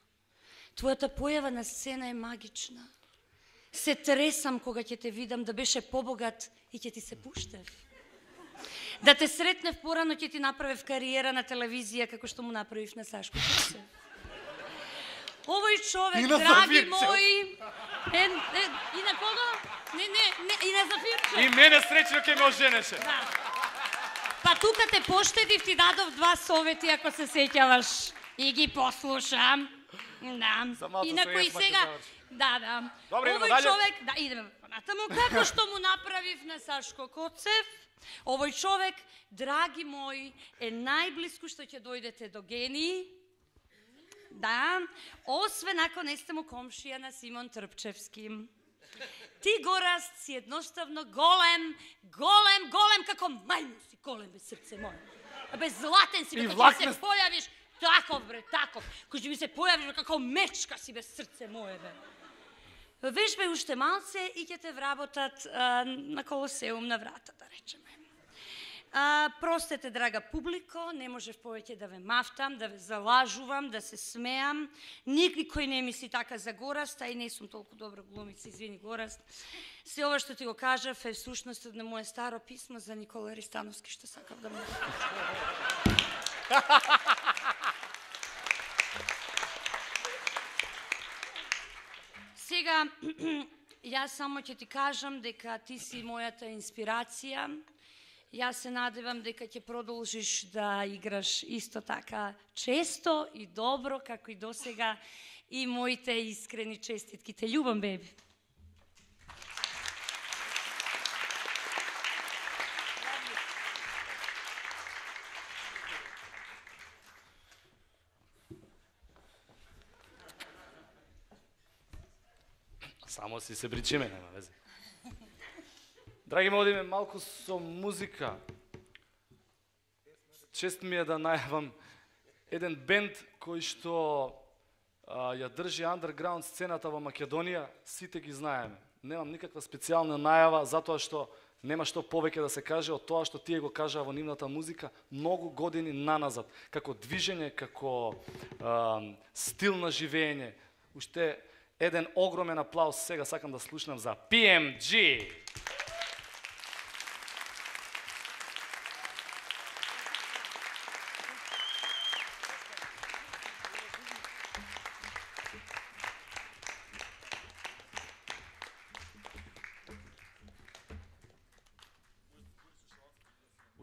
Твојата појава на сцена е магична. Се тресам кога ќе те видам, да беше побогат и ќе ти се пуштев. Да те сретнев порано, ќе ти направев кариера на телевизија како што му направив на Сашко Коцев. Овој човек, И на драги Зафирчев. мои, е, е, и на кого? Не, не, не, и на Зафирчев. И мене среќно ќе ме оженеше. Да. Па тука те поштедив, ти дадов два совети, ако се сеќаваш. И ги послушам. Да. За малку Инаку и се сега... заврши. Да, да. Добре, идеме Овој дале. човек... Да, идеме понатаму. Како што му направив на Сашко Коцев, овој човек, драги мои, е најблиску што ќе дојдете до гении. Да, освен ако не сте му комшија на Симон Трпчевски. Ти, Гораст, си едноставно голем, голем, голем, како мајмун си, голем бе срце моје. Бе златен си, бе, И како ќе влакнест. се појавиш, таков бре, таков. Кој ќе ми се појавиш, бе, како мечка си, бе, срце моје, бе. Веш бе уште малце и ќе те вработат а, на Колосеум на врата, да речеме. А, простете, драга публико, не можев повеќе да ве мафтам, да ве залажувам, да се смеам. Никој не мисли така за Гораст, а и не сум толку добра глумица, извини Гораст. Се ова што ти го кажав е всушност на моje старо писмо за Никола Ристановски, што сакав да му... Сега, јас само ќе ти кажам дека ти си мојата инспирација. Јас се надевам дека ќе продолжиш да играш исто така често и добро, како и досега, и моите искрени честитки. Те љубам, беби. Само си се бричиме, нема везе. Драги мои, одиме малку со музика. Чест ми е да најавам еден бенд кој што а, ја држи андерграунд сцената во Македонија, сите ги знаеме. Немам никаква специјална најава, затоа што нема што повеќе да се каже од тоа што тие го кажаа во нивната музика многу години наназад, како движење, како а, стил на живење. Уште еден огромен аплауз сега сакам да слушнам за Пи Ем Джи.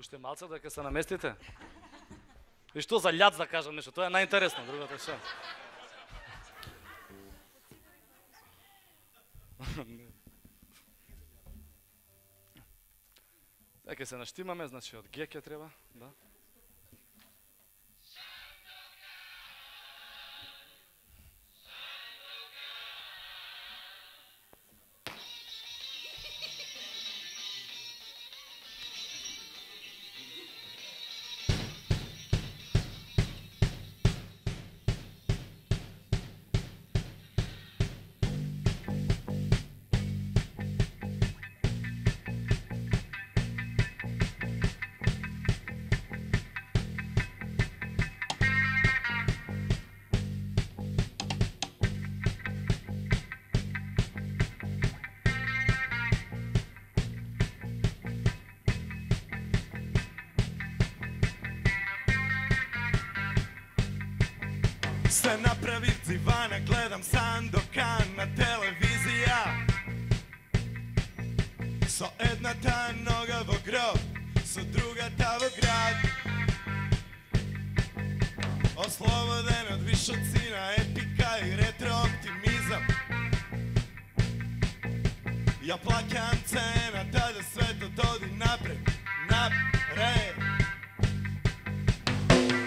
Уште малце да ќе се наместите? И што за љац да кажам нешто, тоа е најинтересно, другото што. Дека се наштимаме, значи од Г ќе треба, да. Се направив дивана, гледам Сандокан на телевизија. Со едната нога во гроб, со другата во град. Ослободен од вишоци на епика и ретро оптимизам. Ја плакам цената да светот оди напред, напред.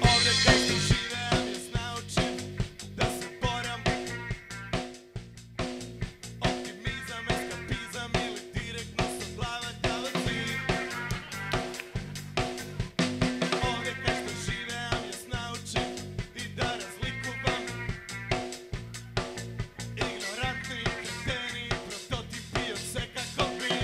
Овде кај што живеам јас научив да се борам. Оптимизам, ескапизам или директно со главата во цили. Овде кај што живеам јас научив и да разликувам игнорантни кретени прототипи од секако би.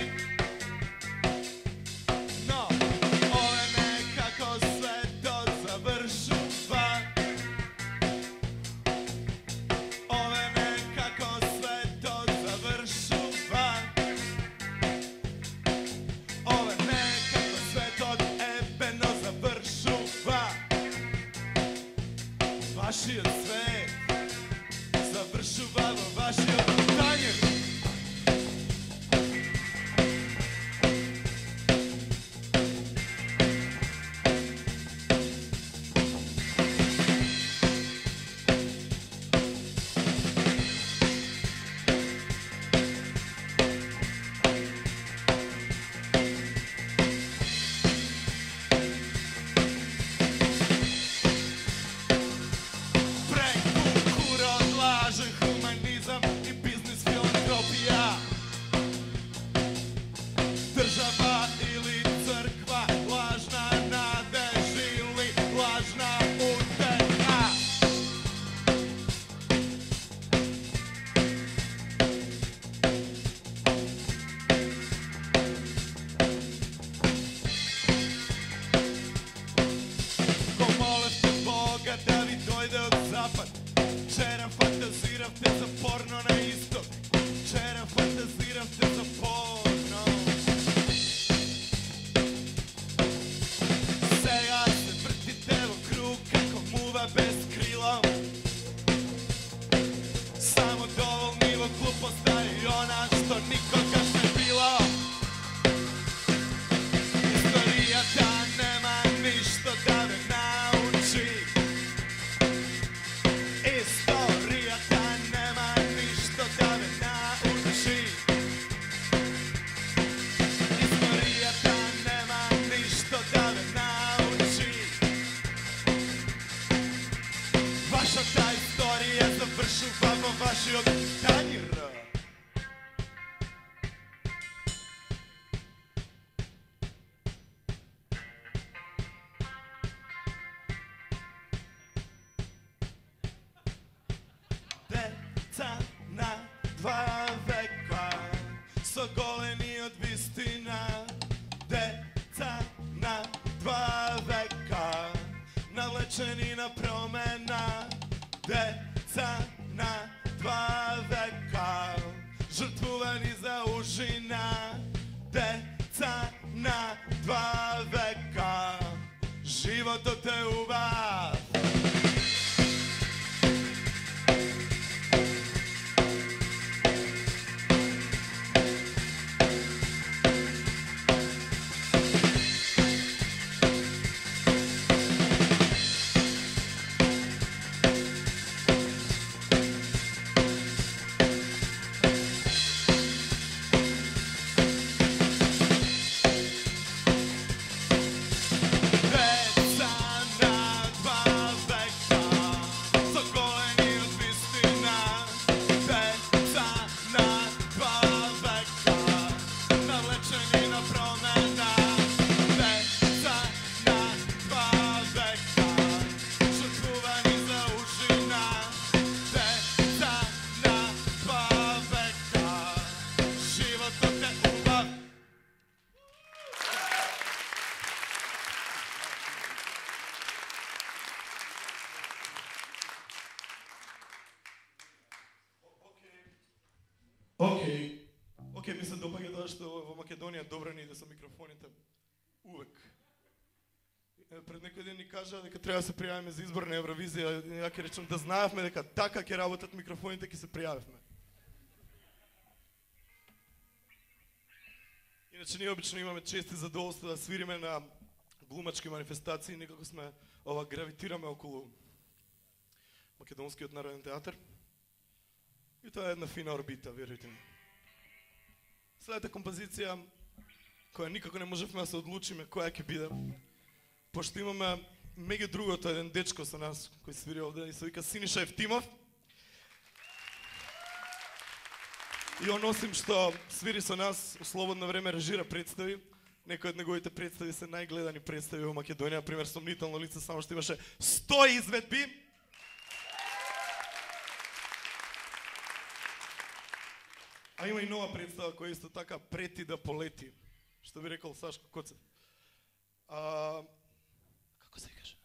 порно на исток. Вчера фантазирам те за порно. Сега се вртите во круг како мува без крила. Само доволни во глупоста и она што никогаш не била. Историјата нема ништо да ме научи. Историјата нема ништо да ме научи. Историјата нема ништо да ме научи. Вашата историја завршува во вашиот танир. Деца на два века со голени од вистина. Деца на два века налечени на промена. Деца на два века жртвувани за ужина. Деца на два века животот е убав. Океј, океј, ми се допаѓа тоа што во Македонија добро ни иде со микрофоните. Увек. Пред некој ден ни кажа дека треба да се пријавиме за избор на Евровизија. Ја ќе речам да знаевме дека така ќе работат микрофоните, ќе се пријавивме. Иначе ние обично имаме чести задоволство да свириме на глумачки манифестации, некако сме ова гравитираме околу Македонскиот народен театар. И тоа е една фина орбита, верујте ми. Следната композиција, која никако не можевме да се одлучиме која ќе биде, пошто имаме меѓу другото еден дечко со нас кој свири овде и се вика Синиша Евтимов. И он осим што свири со нас, у слободно време режира представи. Некои од неговите представи се најгледани представи во Македонија, например Сомнително лице, само што имаше сто изведби. А има и нова представа која исто така прети да полети. Што би рекол Сашко Коцев. А, како се каже?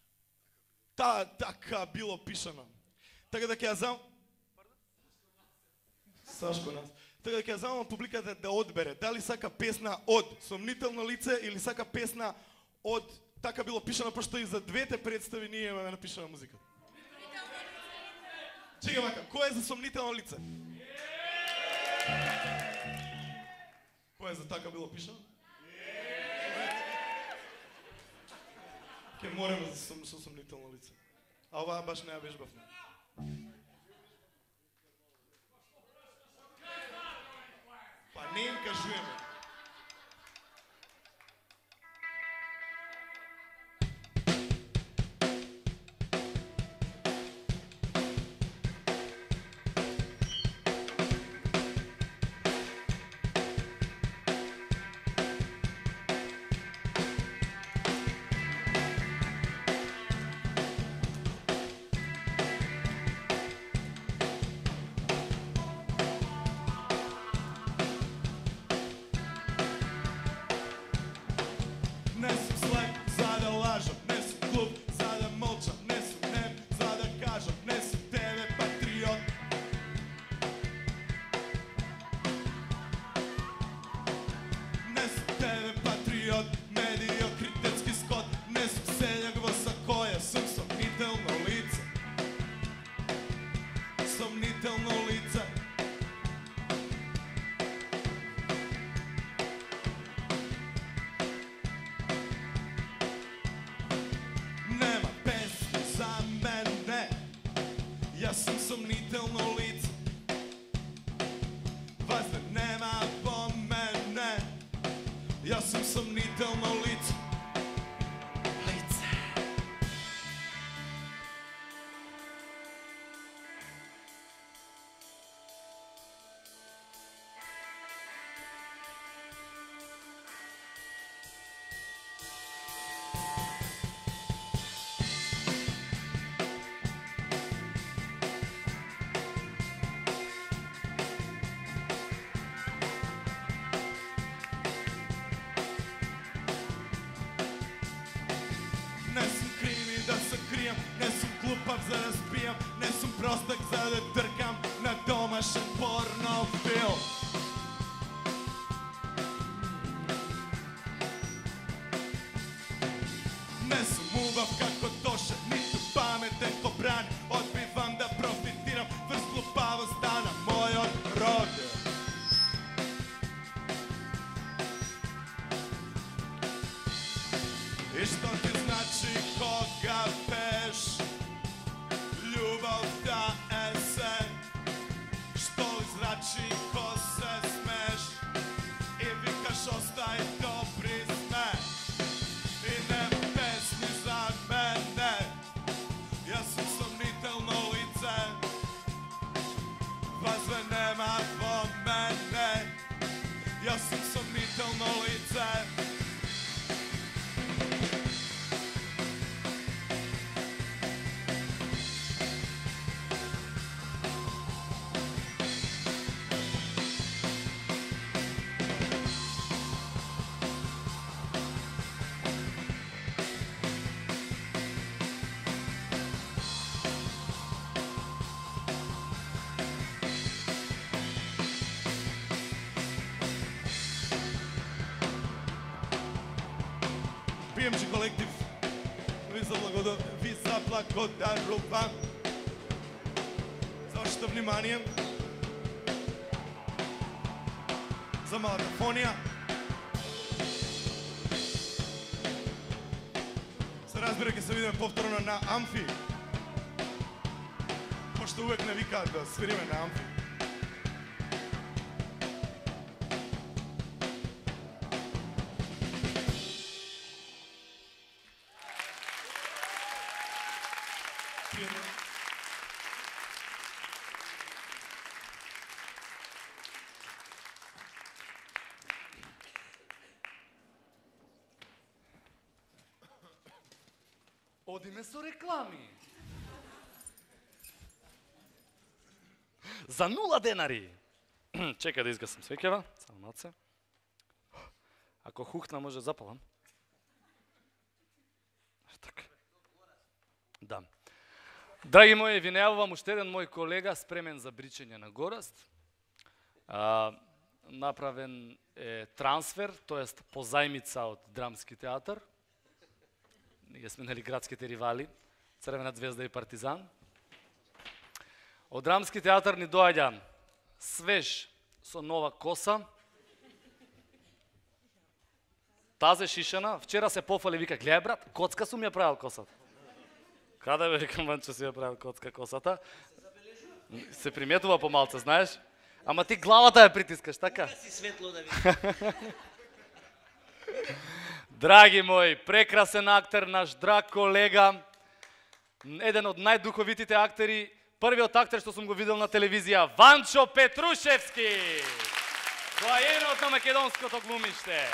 Та, така било пишано. Така да ќе ја зам... Сашко нас. Така да ќе ја замам публиката да одбере дали сака песна од Сомнително лице или сака песна од Така било пишано, пошто и за двете представи ние имаме напишана музика. Чекай вака, кој е за Сомнително лице? Кој е за Така било пишано? Ке мораме за сом, со Сомнително лице. А оваа баш не ја вежбавме. Па не им кажуваме. сомнително лице. Лице. Не сум криви да се кријам, не сум глупав за да спијам, не сум простак за да тркам на домашен порнофилм. Не сум убав како Тоша, ниту паметен ко Брани, одбивам да профитирам врз глупавоста на мојот род. И што ти значи кога пеш, љубовта е се, што ли значи ко се смеш, и викаш остај добри сме, и нема песни за мене, јас сум сомнително лице, вазве нема во мене, јас сум сомнително лице. пи ем джи колектив ви заблагодарувам, ви заблагодарувам за вашето внимание, за малата фонија. Се разбира, ќе се видиме повторно на Амфи, пошто увек не викаат да свириме на Амфи. Одиме со реклами. За нула денари. Чекај да изгасам свеќава, само малце. Ако хухна може запалам. Така. Да. Драги мои, ви најавувам уште еден мој колега спремен за бричење на гораст. А, направен е трансфер, тоест позајмица од Драмски театар. Ние сме нели градските ривали, Црвена звезда и Партизан. Од Драмски театар ни доаѓа свеж со нова коса. Тазе шишена, вчера се пофали, вика, гледај брат, коцка сум ја правил косата. Каде бе, викам, Ванчо си ја правил коцка косата? Се приметува помалце, знаеш? Ама ти главата ја притискаш, така? Си светло да видиш. Драги мои, прекрасен актер, наш драг колега, еден од најдуховитите актери, првиот актер што сум го видел на телевизија, Ванчо Петрушевски, доајенот на македонското глумиште.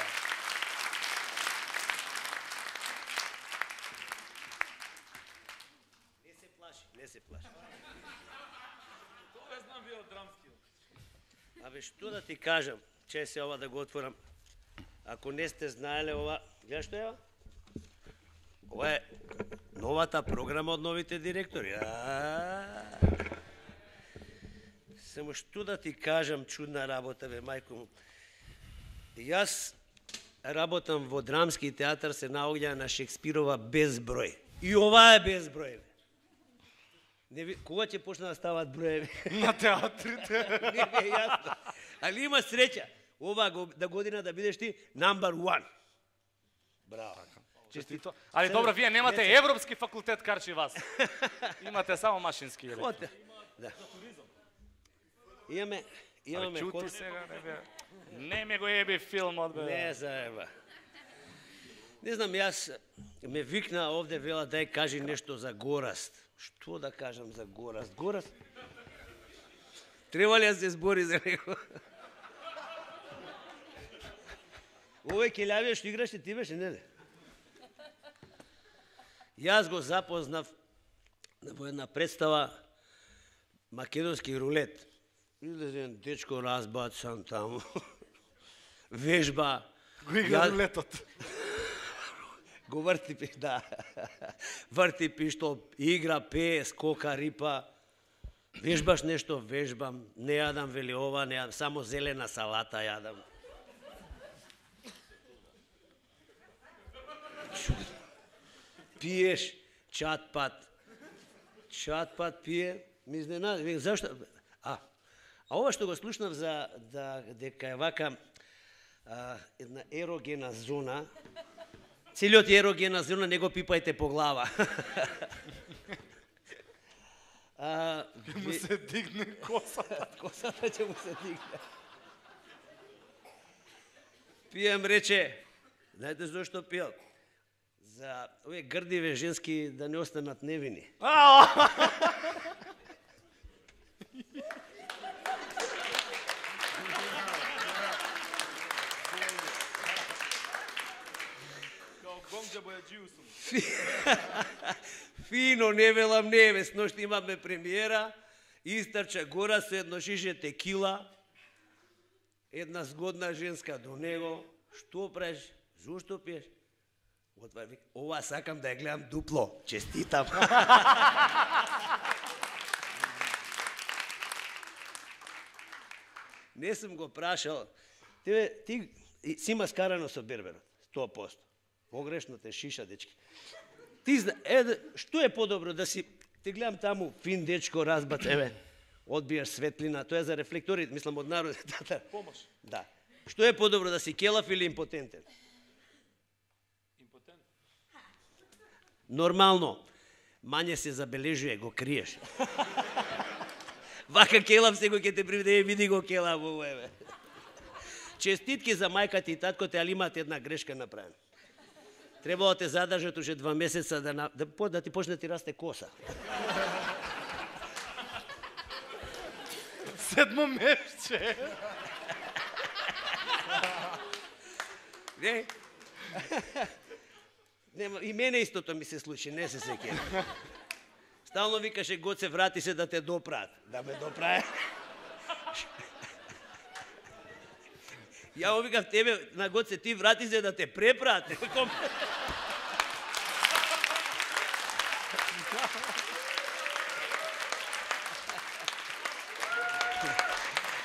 Не се плаши, не се плаши. Тоа знам ви од Драмскиот. Абе, што да ти кажам, че се ова да го отворам. Ако не сте знаеле ова, гледаш што е ова? Ова е новата програма од новите директори. А, само што да ти кажам, чудна работа, бе, мајко му. Јас работам во Драмски театар, се наоѓа на Шекспирова безброј. И ова е безброј. Не ви... Кога ќе почна да стават броеви? На театрите. Не ми е јасно. Али има среќа. Ова да година да бидеш ти number one. Браво. Честито. Али добро, вие немате не, Европски факултет карчи вас. Имате само машински електро. Оте. Да. Имаме, имаме Али чути код... сега, не бе. Не ме го еби филмот, бе. Не заеба. Не знам, јас ме викна овде, вела, дај кажи нешто за Гораст. Што да кажам за Гораст? Гораст? Треба ли да се збори за него? Овој келјавија што играше, ти беше, не ли? Јас го запознав во една представа Македонски рулет. Излезе еден дечко разбацан таму. Вежба. Го игра рулетот. Го врти, да. Врти пиштол, игра, пее, скока, рипа. Вежбаш нешто, вежбам. Не јадам, вели ова, не јадам. Само зелена салата јадам. Пиеш чат-пат. Чат-пат пие. Ми изненади. Зашто? А, а ова што го слушнав за да, дека е вака а, една ерогена зона. Целиот ерогена зона не го пипајте по глава. А, Ќе му се дигне косата. Косата ќе му се дигне. Пием, рече, знаете зашто пиел? За овие грдиве женски да не останат невини. Фино, не велам не, ве, сношто имаме премиера, истрча гора со едно шише текила, една згодна женска до него, што правиш, зошто пиеш? Отваја вика, ова сакам да ја гледам дупло, честитам. Не сум го прашал, ти, ти си има скарано со берберот, сто проценти. Погрешно те шиша, дечки. Ти зна, е, што е подобро да си, те гледам таму, фин дечко, разбац, еве, одбиеш светлина, тоа е за рефлекторите, мислам од народ. Помош. Да. Што е подобро да си келав или импотентен? Импотент. Нормално. Мање се забележува, го криеш. Вака келав секој ќе те приведе, види го келав ово, еве. Честитки за мајката и таткото, али имаат една грешка направена. Требало те задржат уште два месеца да, на, да, да ти почне да ти расте коса. Седмо месече. Не? Нема, и мене истото ми се случи, не се сеќавам. Стално викаше, Гоце, врати се да те допраат. Да ме допрае. Ја викам тебе, на Гоце, ти врати се да те препраат.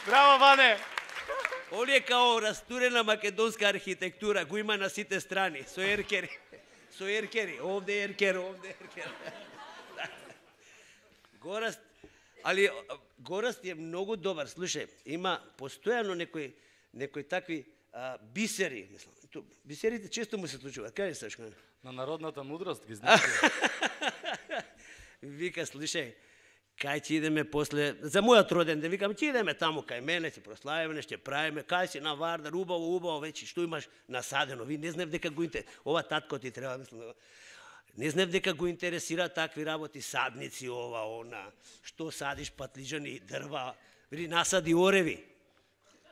Браво, Ване! Оле као растурена македонска архитектура, го има на сите страни, со еркери. Со еркери, овде еркер, овде еркер. Гораст, али Гораст е многу добар. Слушај, има постојано некои некои такви а, бисери, мислам. Ту, бисерите често му се случуваат. Кај саш? На народната мудрост ги знаеш. Вика, слушај, кај ќе идеме после, за мојот роден ден, викам, ќе идеме таму кај мене, ќе прославиме, ќе правиме, кај си на Вардар, убаво, убаво, веќе што имаш насадено. Ви не знам дека го интересира, ова татко ти треба, мислам, не знам дека го интересира такви работи, садници, ова, она, што садиш патлиџани, дрва, види, насади ореви.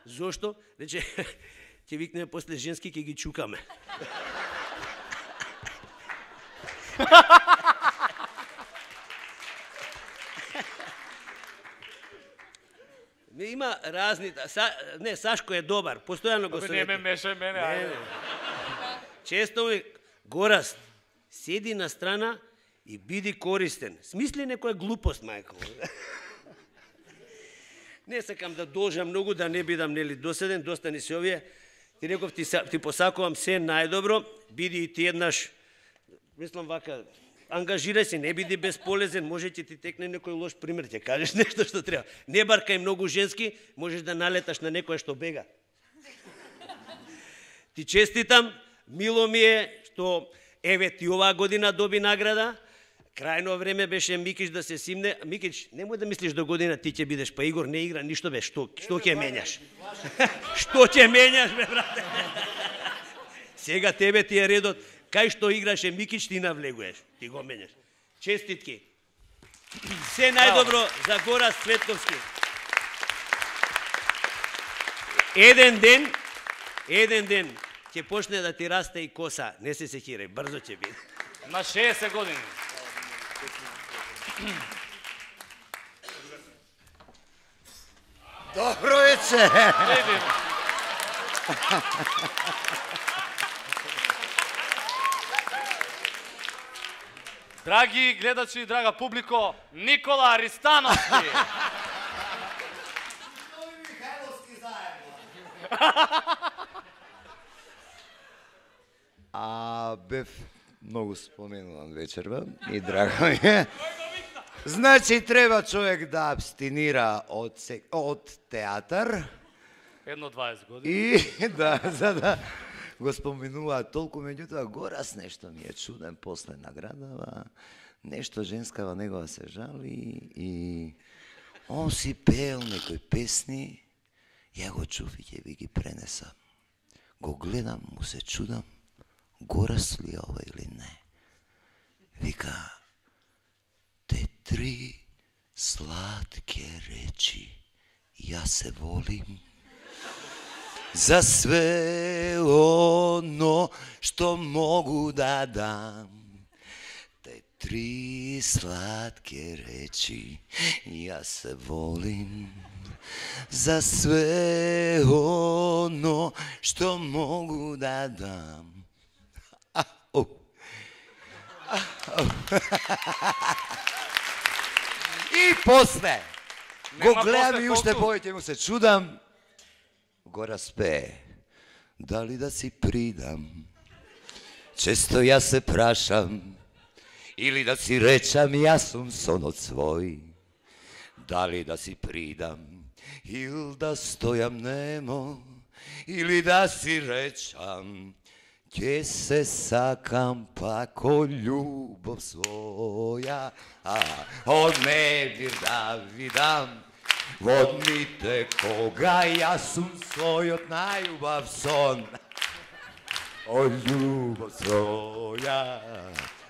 Зошто? Рече, ќе викнеме после женски, ќе ги чукаме. Има разни, са, не, Сашко е добар, постојано го советувам. Не ме мешај мене, ајде. Често ми, Гораст, седи на страна и биди користен. Смисли некоја глупост, мајко. Не сакам да должам многу, да не бидам нели доседен, доста ни се овие. Ти реков, ти, ти посакувам се најдобро, биди и ти еднаш, мислам вака, ангажирај се, не биди безполезен, може ќе ти текне некој лош пример, ќе кажеш нешто што треба. Не баркај многу женски, можеш да налеташ на некоја што бега. Ти честитам, мило ми е што еве ти оваа година доби награда. Крајно време беше Микиш да се симне. Микиш, немој да мислиш до година ти ќе бидеш, па Игор не игра ништо бе, што што ќе менјаш? Што ќе менјаш бе, брате? Сега тебе ти е редот. Кај што играше Микич, ти навлегуваш, ти го менеш. Честитки. Се најдобро за Гора Цветковски. Еден ден, еден ден ќе почне да ти расте и коса. Не се сеќирај, брзо ќе биде. На шеесет години. Добро вече. Драги гледачи и драга публико, Никола Аристановски. А бев многу споменуван вечерва и драго ми е. Значи треба човек да абстинира од се... од театар. Едно дваесет години. И да, за да го споменуваат толку, меѓутоа Горас нешто ми е чуден после наградава, нешто женскава негова се жали и он си пеел некои песни, ја го чув и ќе ви ги пренесам. Го гледам, му се чудам, Горас ли е ова или не. Вика, те три сладке речи, ја се волим, за све оно што могу да дам. Те три сладке речи, ја се волим, за све оно што могу да дам. А, о. А, о. И после го гледам и уште повеќе му се чудам. Гора спее, дали да си придам, често ја се прашам, или да си речам јас сум сонот свој, дали да си придам, или да стојам немо, или да си речам, ќе се сакам пако љубов своја, а од немир да видам, во дните кога јас сум својот најубав сон. О љубов своја,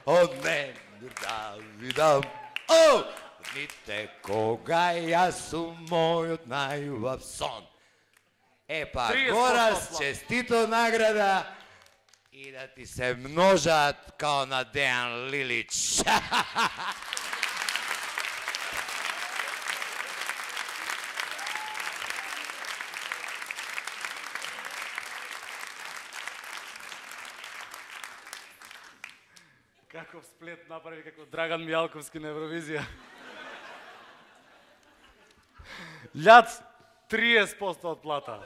од немир да видам, о дните кога јас сум мојот најубав сон. Епа, Горас, честито награда и да ти се множат као на Дејан Лилич. Каков сплет направи како Драган Мијалковски на Евровизија. Љац триесет проценти од плата.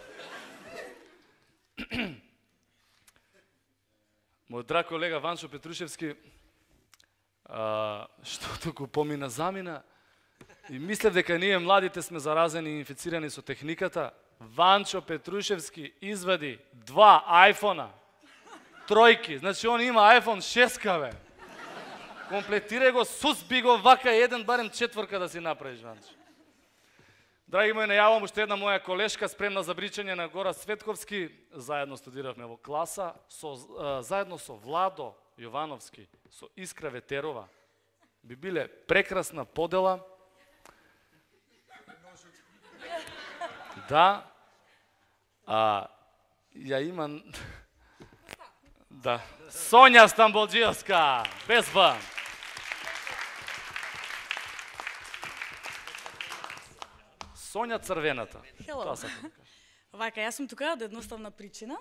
Мој драг колега Ванчо Петрушевски, а, што туку помина замина, и мислев дека ние младите сме заразени и инфицирани со техниката. Ванчо Петрушевски извади два айфона, тројки, значи он има айфон шест, бе. Комплетирај го, сузби го, вака еден, барем четворка да си направиш, Ванчо. Драги мои, најавам уште една моја колешка спремна за бричање на Гора Цветковски. Заедно студиравме во класа, со, а, заедно со Владо Јовановски, со Искра Ветерова. Би биле прекрасна подела. Да. А, ја има... Да. Сонја Стамболџиевска, без Б. Сонја Црвената. Хело. Вака, јас сум тука од едноставна причина,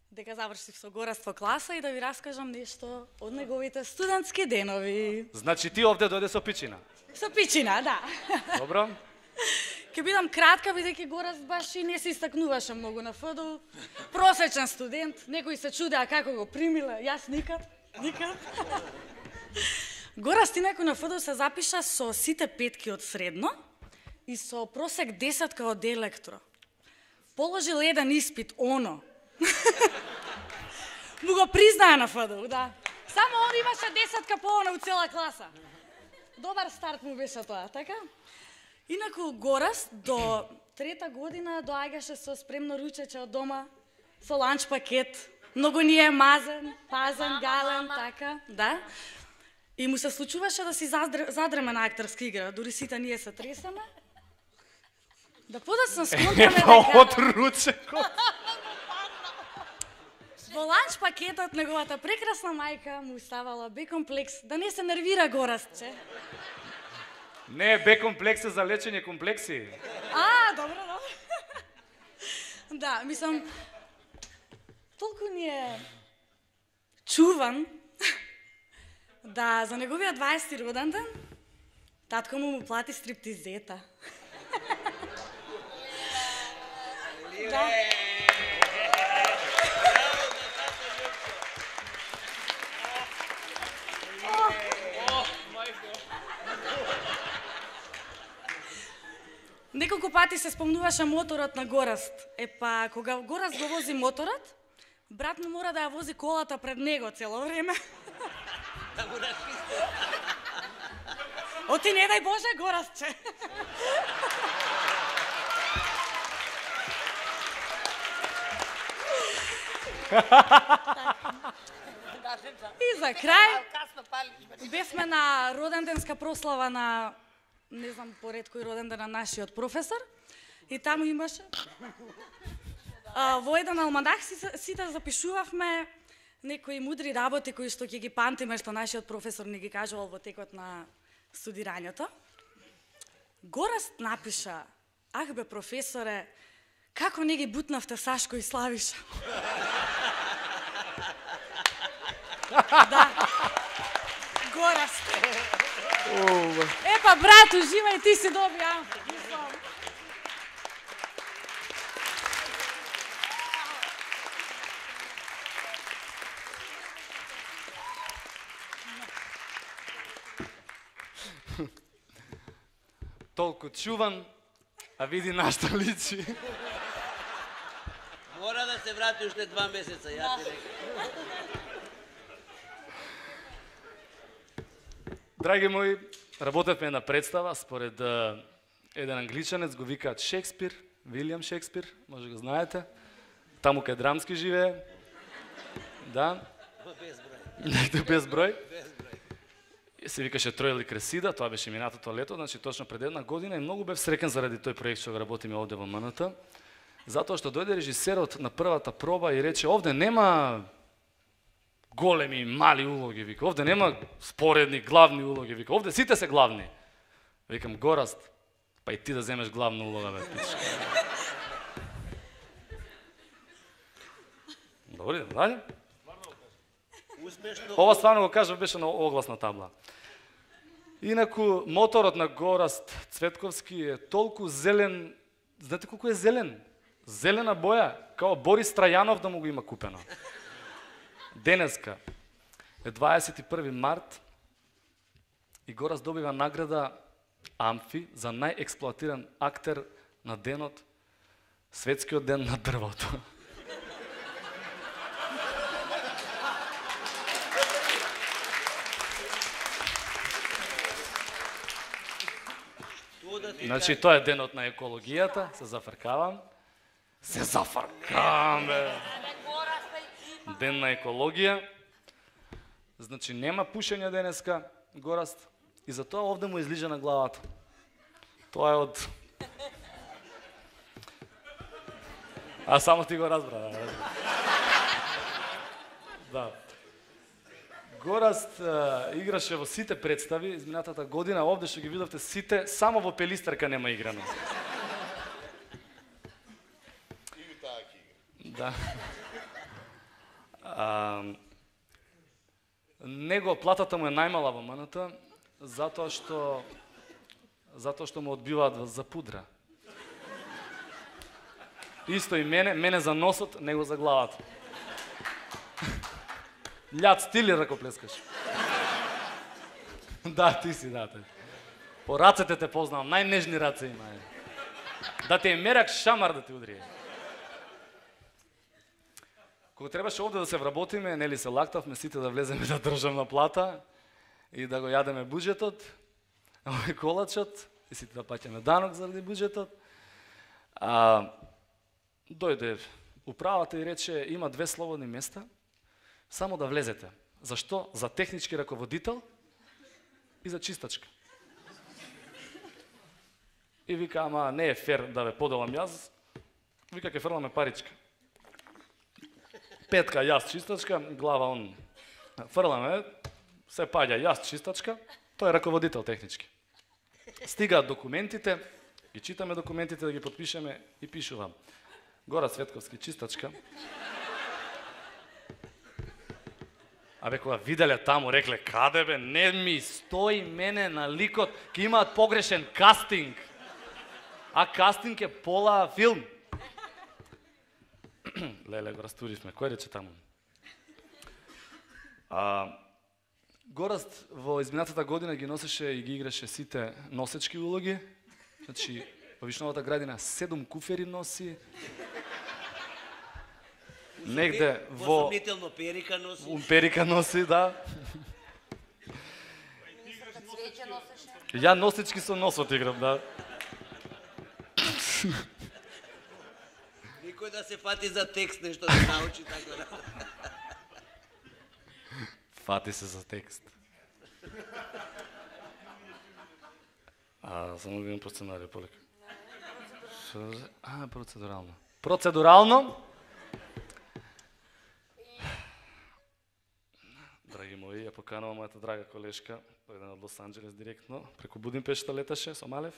дека завршив со Горас во класа и да ви раскажам нешто од неговите студентски денови. Значи ти овде дојде со пичина? Со пичина, да. Добро. Ке бидам кратка, бидејќи Горас баш и не се истакнуваше многу на ФДУ. Просечен студент, некои се чудеа како го примиле, јас никад, никад. Горас инаку на ФДУ се запиша со сите петки од средно и со просек десетка од електро. Положил еден испит, оно. Му го признаа на ФДУ, да. Само он имаше десетка по оно у цела класа. Добар старт му беше тоа, така? Инаку Горас до трета година доаѓаше со спремно ручече од дома, со ланч пакет, Многу ни е мазен, пазен, гален, така, да. И му се случуваше да си задр... задреме на актерска игра, дури сите ние се тресаме. Да подоцна сконтаме дека... Од ручекот. Во ланч пакетот неговата прекрасна мајка му ставала бе-комплекс, да не се нервира Горастче. Не, бе-комплекс е за лечење комплекси. А, добро, добро. Да, мислам, толку ни е чуван да за неговиот дваесети роден ден татко му му плати стриптизета. Да. Неколку пати се спомнуваше моторот на Гораст. Е па, кога Гораст го вози моторот, брат му мора да ја вози колата пред него цело време. Оти не дај Боже, Горастче. И за крај, бевме на роденденска прослава на, не знам поред кој роденден на нашиот професор, и таму имаше, а, во еден алманах сите запишувавме некои мудри работи кои што ќе ги памтиме, што нашиот професор ни ги кажувал во текот на студирањето. Гораст напиша: "Ах бе, професоре, како не ги бутнавте Сашко и Славиша?" Да. Гораст. Епа, брат, уживај, ти си добија. Толку чуван, а види нашта личи. Мора да се врати уште два месеца, ја ти рекам. Драги мои, работевме на представа според uh, еден англичанец, го викаат Шекспир, Вилијам Шекспир, може го знаете. Таму кај Драмски живее. Да. Без број. Негде без број. Без број. Се викаше Тројли Кресида, тоа беше минатото лето, значи точно пред една година, и многу бев среќен заради тој проект што го работиме овде во М Н Т, затоа што дојде режисерот на првата проба и рече: "Овде нема големи, мали улоги", вика. "Овде нема споредни, главни улоги", вика. "Овде сите се главни." Викам: "Гораст, па и ти да земеш главна улога, бе, пичка." Добре, дале. Успешно. Ова стварно го кажав, беше на огласна табла. Инаку, моторот на Гораст Цветковски е толку зелен, знаете колку е зелен? Зелена боја, као Борис Трајанов да му го има купено. Денеска е дваесет и први март и Гораст добива награда Амфи за најексплоатиран актер на денот, светскиот ден на дрвото. Значи, тоа е денот на екологијата, се зафркавам. Се зафркавам, бе. Ден на екологија. Значи, нема пушење денеска, Гораст, и затоа овде му излижа на главата. Тоа е од... А само ти го разбра, да. Да. Гораст а, играше во сите представи изминатата година, овде што ги видовте сите, само во Пелистерка нема играно. Да. А, него платата му е најмала во М Н Т, затоа што затоа што му одбиваат за пудра. Исто и мене, мене за носот, него за главата. Љад стили ракоплескаш. Да, ти си, да. Те. По рацете те познавам, најнежни раце има. Да те е мерак шамар да те удри. Кога требаше овде да се вработиме, нели се лактавме сите да влеземе да државна плата и да го јадеме буџетот, овој колачот, и сите да плаќаме данок заради буџетот. А, дојде Управата и рече, има две слободни места, само да влезете. Зашто? За технички раководител и за чистачка. И вика, ама не е фер да ве поделам јас, вика, ке фрламе паричка. Петка јас чистачка, глава он фрламе, се паѓа јас чистачка, тој е раководител технички. Стигаат документите, ги читаме документите, да ги подпишеме и пишувам. Гора Цветковски чистачка. Абе, кога виделе таму, рекле, каде бе, не ми стои мене на ликот, ке имаат погрешен кастинг. А кастинг е пола филм. Леле, го растуривме. Кој рече таму? А, Гораст во изминатата година ги носеше и ги играше сите носечки улоги. Значи, во Вишновата градина седум куфери носи. Негде во... Сомнително перика носи. Перика носи, да. Ја носечки со носот играм, да. Никој да се фати за текст, нешто да научи, така да. Фати се за текст. А, само видим по сценарија, полека. А, процедурално. Процедурално. Драги мои, ја поканувам мојата драга колешка, дојдена од Лос Анџелес директно, преку Будимпешта леташе со Малев,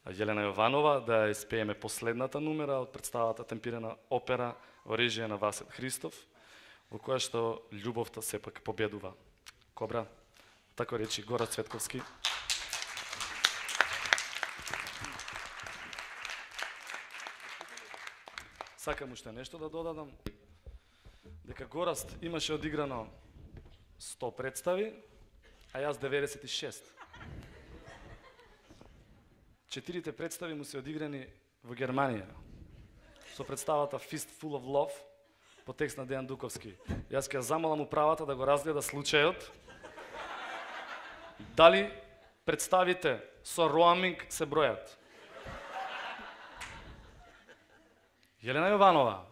Јелена Јованова, да испееме последната numera од представата темпирана опера во режија на Васет Христов, во која што љубовта сепак победува. Кобра, тако речи Гора Цветковски. Сакам уште нешто да додадам, дека Гораст имаше одиграно сто представи, а јас деветдесет и шест. Четирите представи му се одиграни во Германија, со представата Fistful of Love, по текст на Дејан Дуковски. Јас ќе замолам управата да го разгледа случајот, дали представите со роаминг се бројат. Јелена Јованова.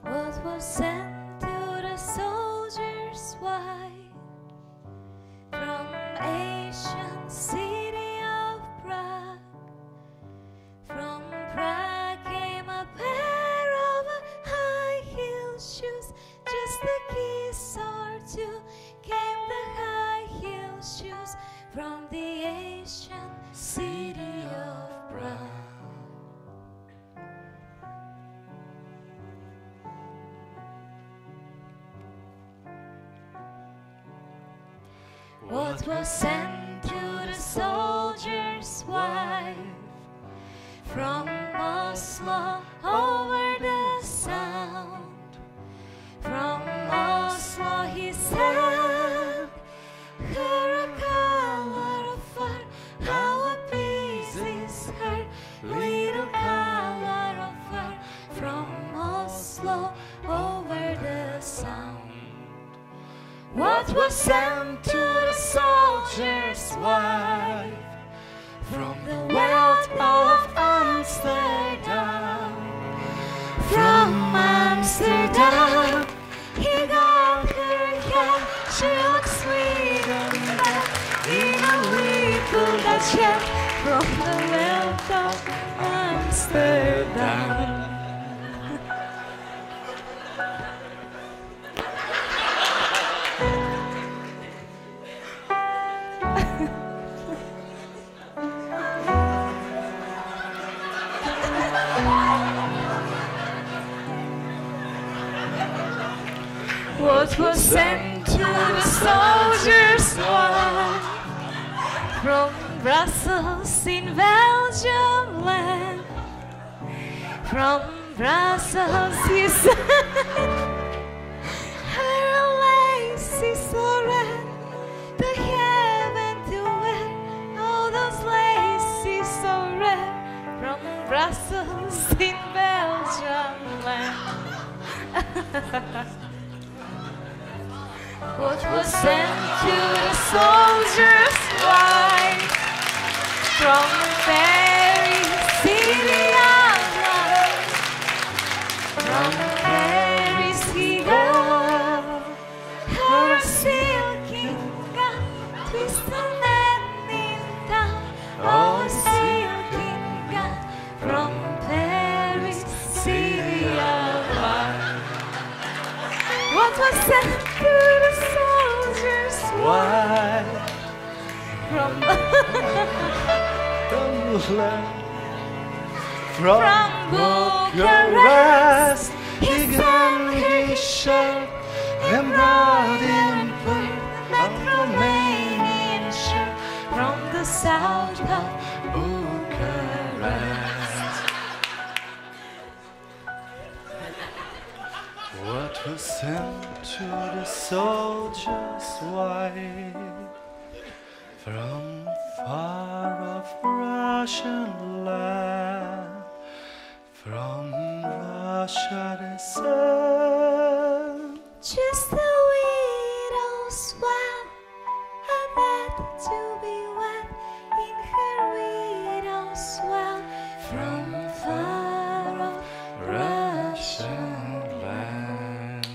What was sent to the soldier's wife from ancient city of Prague? From Prague came a pair of high-heeled shoes. Just a kiss or two came the high-heeled shoes from the ancient city of Prague. What was sent to the soldier's wife from Oslo over the sound? From Oslo he sent her a color of fur. How appeases her little color of fur from Oslo over the sound? What was sent to the soldier's wife from the wealth of Amsterdam? From Amsterdam, he got her cat. She looks sweet and fat in a little Dutch hat from the wealth of Amsterdam. What was sent to the soldier's wife from Brussels in Belgium land? From Brussels, you said her lace is so red, the heaven to wear. All those laces so red. From Brussels in Belgium land. What was sent to the soldiers' wives from the very city of love, from the very seagull, her silky gown twisted and in town. Oh, silky gown from Paris, city of love. What was sent to the soldiers' wives from From From Bucharest, he got his shirt and brought him food, that Romanian shirt from the south of Bucharest. What was sent to the soldiers' wife from far off Russian land, from Russia they sent Just a widow's wife, had that to be wet in her widow's well from far off Russian land.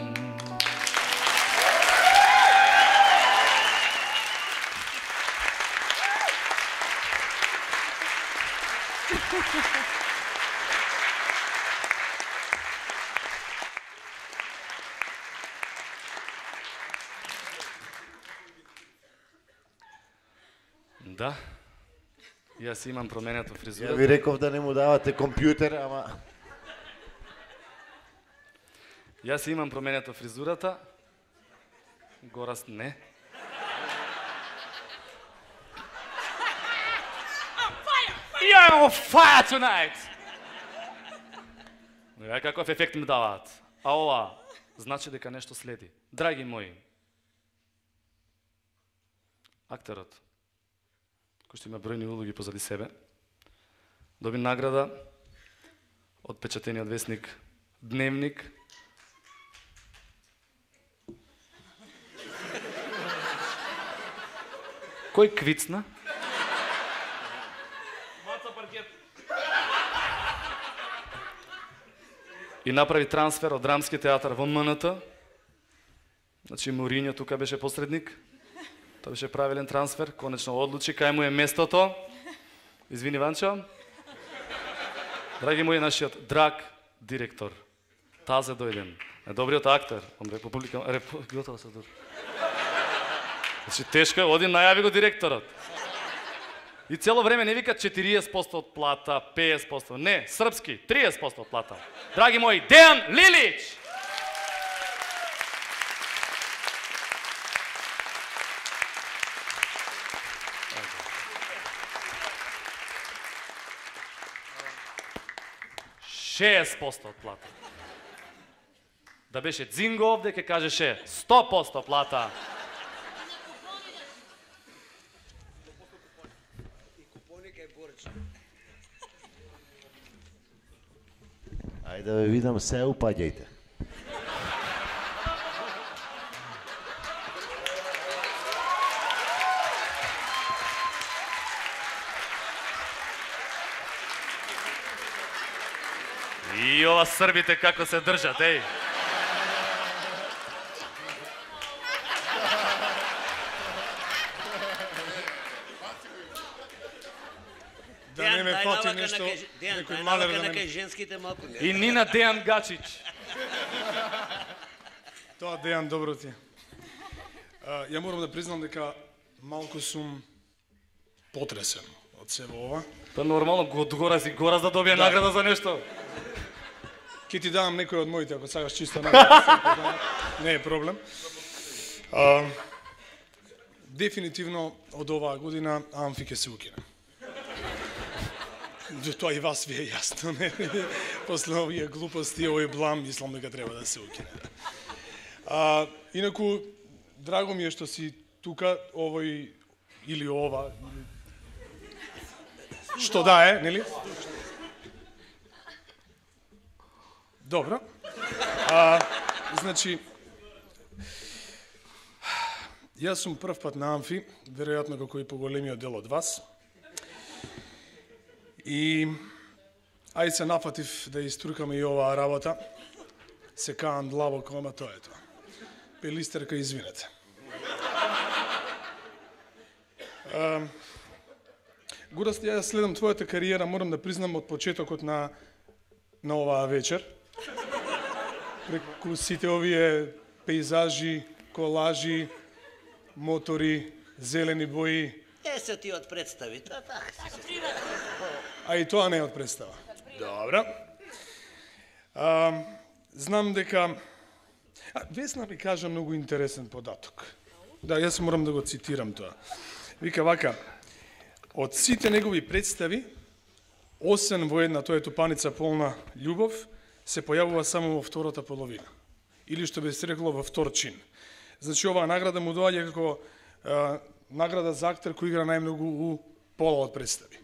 Да. Јас имам променето фризура. Ја ви реков да не му давате компјутер, ама... Јас имам променето фризурата. Гораст не. You're on fire tonight! Ја каков ефект ми даваат. А ова значи дека нешто следи. Драги мои, актерот, кој што има бројни улоги позади себе, доби награда од печатениот весник Дневник. Кој квицна? И направи трансфер од Драмски театар во М Н Т. Значи Моринјо тука беше посредник. Тоа беше правилен трансфер, конечно одлучи кај му е местото. Извини, Ванчо. Драги мои, нашиот драг директор, Тазе дојден, добриот актер, он република, република, се дур. Значи тешко, оди најави го директорот. И цело време не вика четириесет проценти од плата, петдесет проценти, не, српски, триесет проценти од плата. Драги мои, Дејан Лилич! шеесет проценти од плата. Да беше Дзинго овде, ке кажеше сто проценти плата. Ајде да ве видам, се упаѓајте. И ова србите како се држат, еј. Да не ме фати нешто, некој малер да не... ме... женските малку не. И Нина Дејан Гачич. Тоа Дејан, добро ти. А, ја морам да признам дека малку сум потресен од себе ова. Па нормално, од гора си гора да добие Да. награда за нешто. Ке ти давам некој од моите, ако сакаш чиста награда. Не е проблем. А, дефинитивно од оваа година Амфи ќе се укине. Тоа и вас ви е јасно, не? после овие глупости, овој блам, мислам дека треба да се укине. А, инаку, драго ми е што си тука, овој или ова, или... што да е, нели? Добро. А, значи, јас сум прв пат на Амфи, веројатно како и поголемиот дел од вас. И ај се нафатив да иструкаме и оваа работа. Се каам длабоко, ама тоа е тоа. Пелистерка, извинете. А, Гораст, ја следам твојата кариера, морам да признам од почетокот на на оваа вечер. Преку сите овие пейзажи, колажи, мотори, зелени бои. Е, се ти од представи, тоа така си се. А и тоа не е од представа. Добро. А, знам дека... А, Весна ми кажа многу интересен податок. Да, јас морам да го цитирам тоа. Вика вака, од сите негови представи, осем во една, тоа е Тупаница полна љубов, се појавува само во втората половина. Или што би се рекло во втор чин. Значи, оваа награда му доаѓа како а, награда за актер кој игра најмногу у пола од представи.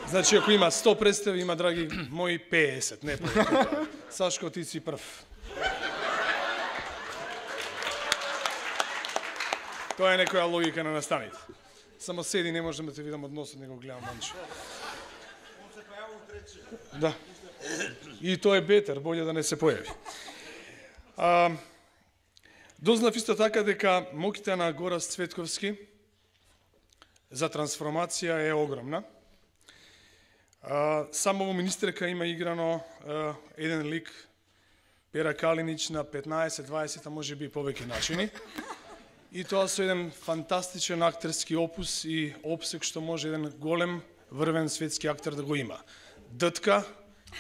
Значи, ако има сто представи, има, драги мои, песет, не повеќе. Сашко, ти си прв. Тоа е некоја логика на настаните. Само седи, не можем да те видам од носот, не го гледам манче. Да. И тоа е бетер, болje да не се појави. А, дознав исто така дека моките на Гораст Цветковски за трансформација е огромна. А, само во Министерка има играно а, еден лик, Пера Калинич, на петнаесет дваесет, а може би повеќе начини. И тоа со еден фантастичен актерски опус и опсек што може еден голем, врвен светски актер да го има. Дътка,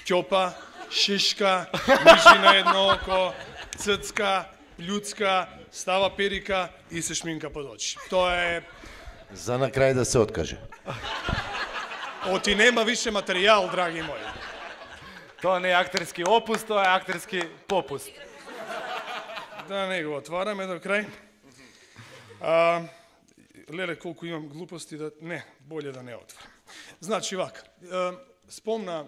ќопа, шишка, мижи на едно око, ццка, плюцка, става перика и се шминка под очи. Тоа е... За на крај да се откаже. Оти нема више материјал, драги мои. Тоа не е актерски опус, тоа е актерски попуст. Да не го отвараме до крај. А, леле, колку имам глупости да... Не, болje да не отварам. Значи, вака, а, спомна,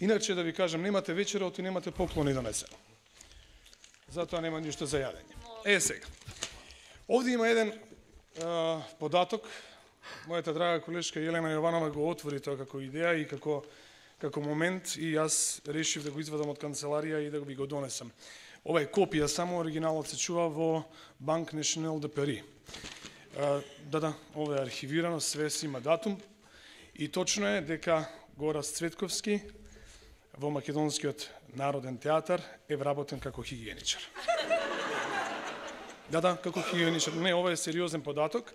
иначе да ви кажам, немате вечера, оти немате поклони донесено. Затоа нема ништо за јадење. Е, сега. Овде има еден а, податок. Мојата драга колешка Елена Јованова го отвори тоа како идеја и како, како момент и јас решив да го извадам од канцеларија и да ви го донесам. Ова е копија, само оригиналот се чува во Банк National de Paris. А, да, да, ова е архивирано, све си има датум и точно е дека Гораст Цветковски во Македонскиот народен театар е вработен како хигиеничар. Да, да, како хигиеничар. Не, ова е сериозен податок.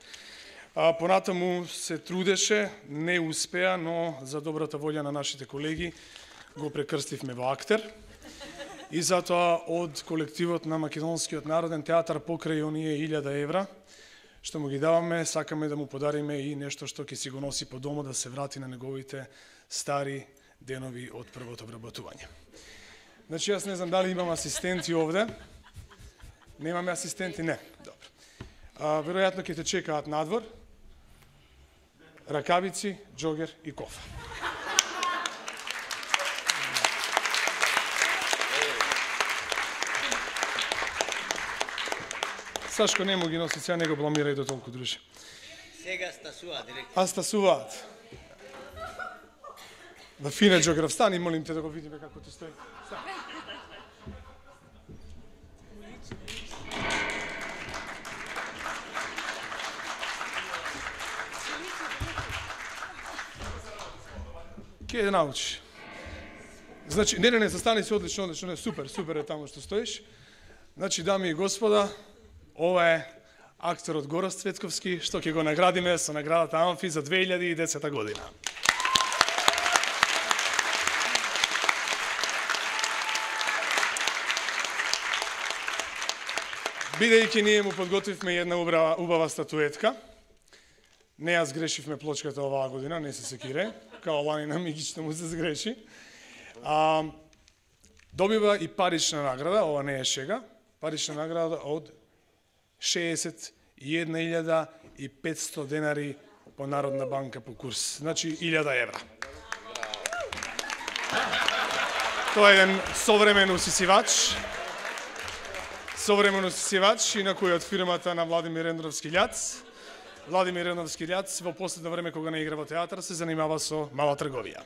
А, понатаму се трудеше, не успеа, но за добрата волја на нашите колеги го прекрстивме во актер. И затоа од колективот на Македонскиот народен театар покрај оние илјада евра, што му ги даваме, сакаме да му подариме и нешто што ќе си го носи по дома, да се врати на неговите стари денови од првото вработување. Значи, јас не знам дали имам асистенти овде. Немаме асистенти? Не. Добро. А, веројатно ќе те чекаат надвор. Ракавици, џогер и кофа. Сашко не му ги носи, сега не го бламирај до толку, друже. Сега стасуваат директно. А стасуваат. Да фине џогер, встани, молим те да го видиме како ти стои. Стани. Ке да научиш. Значи, не, не, не, застани се одлично, одлично, не, супер, супер е таму што стоиш. Значи, дами и господа, ова е актерот Гораст Цветковски, што ќе го наградиме со наградата Амфи за две илјади и десета година. Бидејќи ние му подготвивме една убава, убава статуетка, не ја сгрешивме плочката оваа година, не се секире, као лани на Мигич му се сгреши. А, Добива и парична награда, ова не е шега, парична награда од шеесет и една илјада и петсто денари по Народна банка по курс. Значи, илјада евра. Тоа е еден современ усисивач. Современ усисивач, инаку е од фирмата на Владимир Ендровски Љац. Владимир Ендровски Љац во последно време кога не игра во театар се занимава со мала трговија.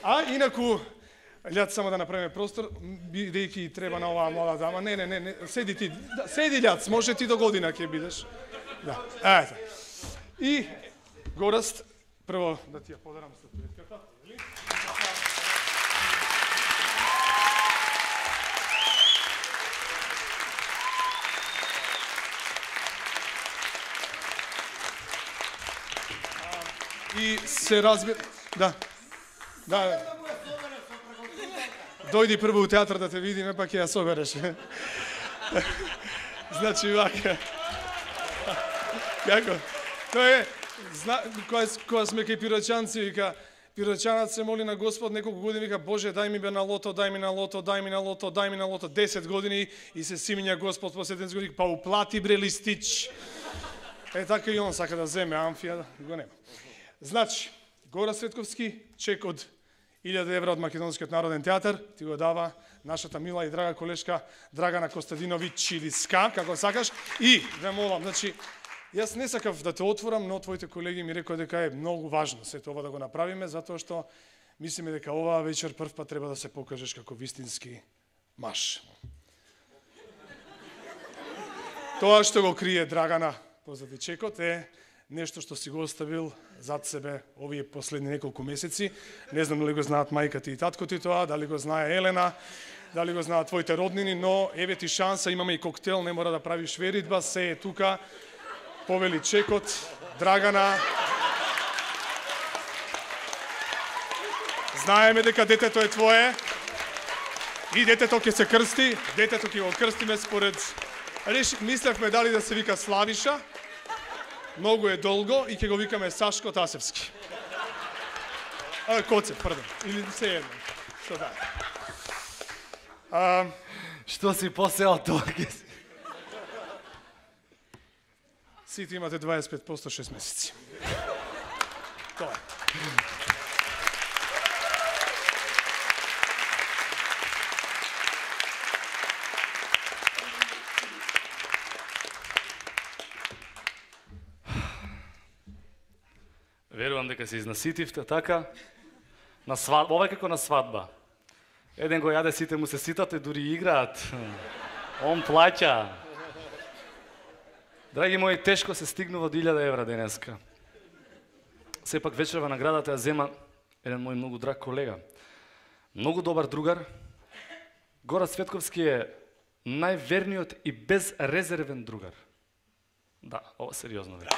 А инаку Љац, само да направиме простор, бидејќи треба на оваа млада дама. Не, не, не, не, седи ти. Да, седи Љац, може ти до година ќе бидеш. Да. Ето. И Гораст, прво да ти ја подарам статуетката. И се разбира... Да. Да. Дојди прво у театар да те видиме, па ќе ја собереш. Значи, вака. Како? Тоа е, зна, кога, кога сме кај пирочанци, вика, пирочанат се моли на Господ неколку години, вика, Боже, дај ми бе на лото, дај ми на лото, дај ми на лото, дај ми на лото, десет години и се симиња Господ по седемдесет години, па уплати бре листич. Е, така и он сака да земе амфија, го нема. Значи, Гора Светковски, чек од илјада евра од Македонскиот народен театар, ти го дава нашата мила и драга колешка Драгана Костадинович или Ска, како сакаш. И, ве молам, значи, јас не сакав да те отворам, но твоите колеги ми рекоа дека е многу важно се тоа да го направиме, затоа што мислиме дека оваа вечер прв пат треба да се покажеш како вистински маж. Тоа што го крие Драгана позади чекот е нешто што си го оставил зад себе овие последни неколку месеци. Не знам дали го знаат мајката и таткото и тоа, дали го знае Елена, дали го знаат твоите роднини, но еве ти шанса, имаме и коктел, не мора да правиш веридба, се е тука. Повели чекот, Драгана. Знаеме дека детето е твое и детето ќе се крсти, детето ќе го крстиме според... Реши, мислевме дали да се вика Славиша, многу е долго и ќе го викаме Сашко Тасевски. А, Коцев, пардон, или се едно. Што да. А, Што си посеал тоа ќе си? Сите имате дваесет и пет проценти шест месеци. Тоа е. Верувам дека се изнаситивте, така? На свадба, ова е како на свадба. Еден го јаде, сите му се ситат и дури играат. Он плаќа. Драги мои, тешко се стигнува до илјада евра денеска. Сепак вечерва наградата ја зема еден мој многу драг колега. Многу добар другар. Гора Светковски е најверниот и безрезервен другар. Да, ова сериозно ве.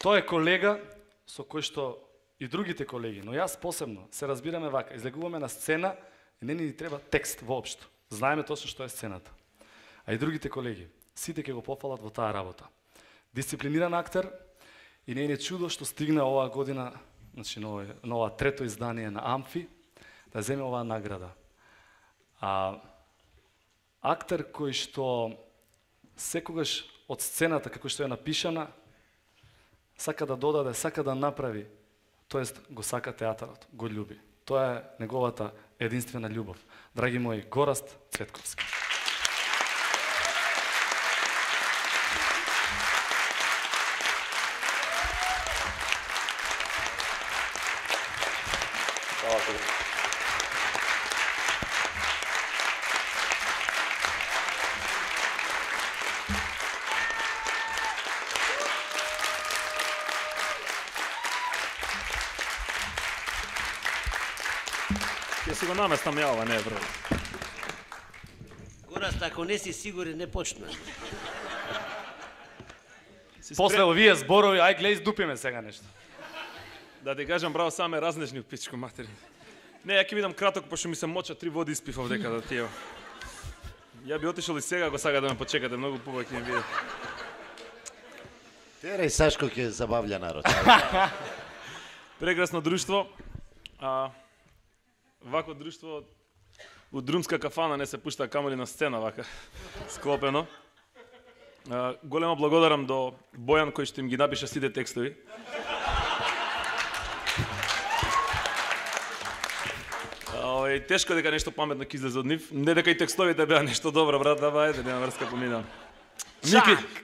Тој е колега со кој што и другите колеги, но јас посебно се разбираме вака, излегуваме на сцена и не ни треба текст воопшто. Знаеме точно што е сцената. А и другите колеги, сите ќе го пофалат во таа работа. Дисциплиниран актер и не е чудо што стигна оваа година, значи на ова трето издание на Амфи, да земе оваа награда. А актер кој што секогаш од сцената, како што е напишана, сака да додаде, сака да направи, тоест го сака театарот, го љуби. Тоа е неговата единствена љубов. Драги мои, Гораст Цветковски. Ќе си го наместам ја ова, не е проблем. Гораст, ако не си сигурен, не почна. После овие зборови, ај глеј, издупиме сега нешто. Да ти кажам, браво, саме разнежни у пичко матери. Не, ја ќе видам краток, пошто ми се моча три води испив овдека да тие. Ја би отишол и сега, ако сага да ме почекате, многу побај ќе ми биде. Терај Сашко ќе забавља народ. Прекрасно друштво. А, вако друштво у друмска кафана не се пушта камоли на сцена вака склопено. А, големо благодарам до Бојан кој што им ги напиша сите текстови. Ой, тешко дека нешто паметно ќе излезе од нив. Не дека и текстовите беа нешто добро, брат, да бајде, нема врска помина. Мики,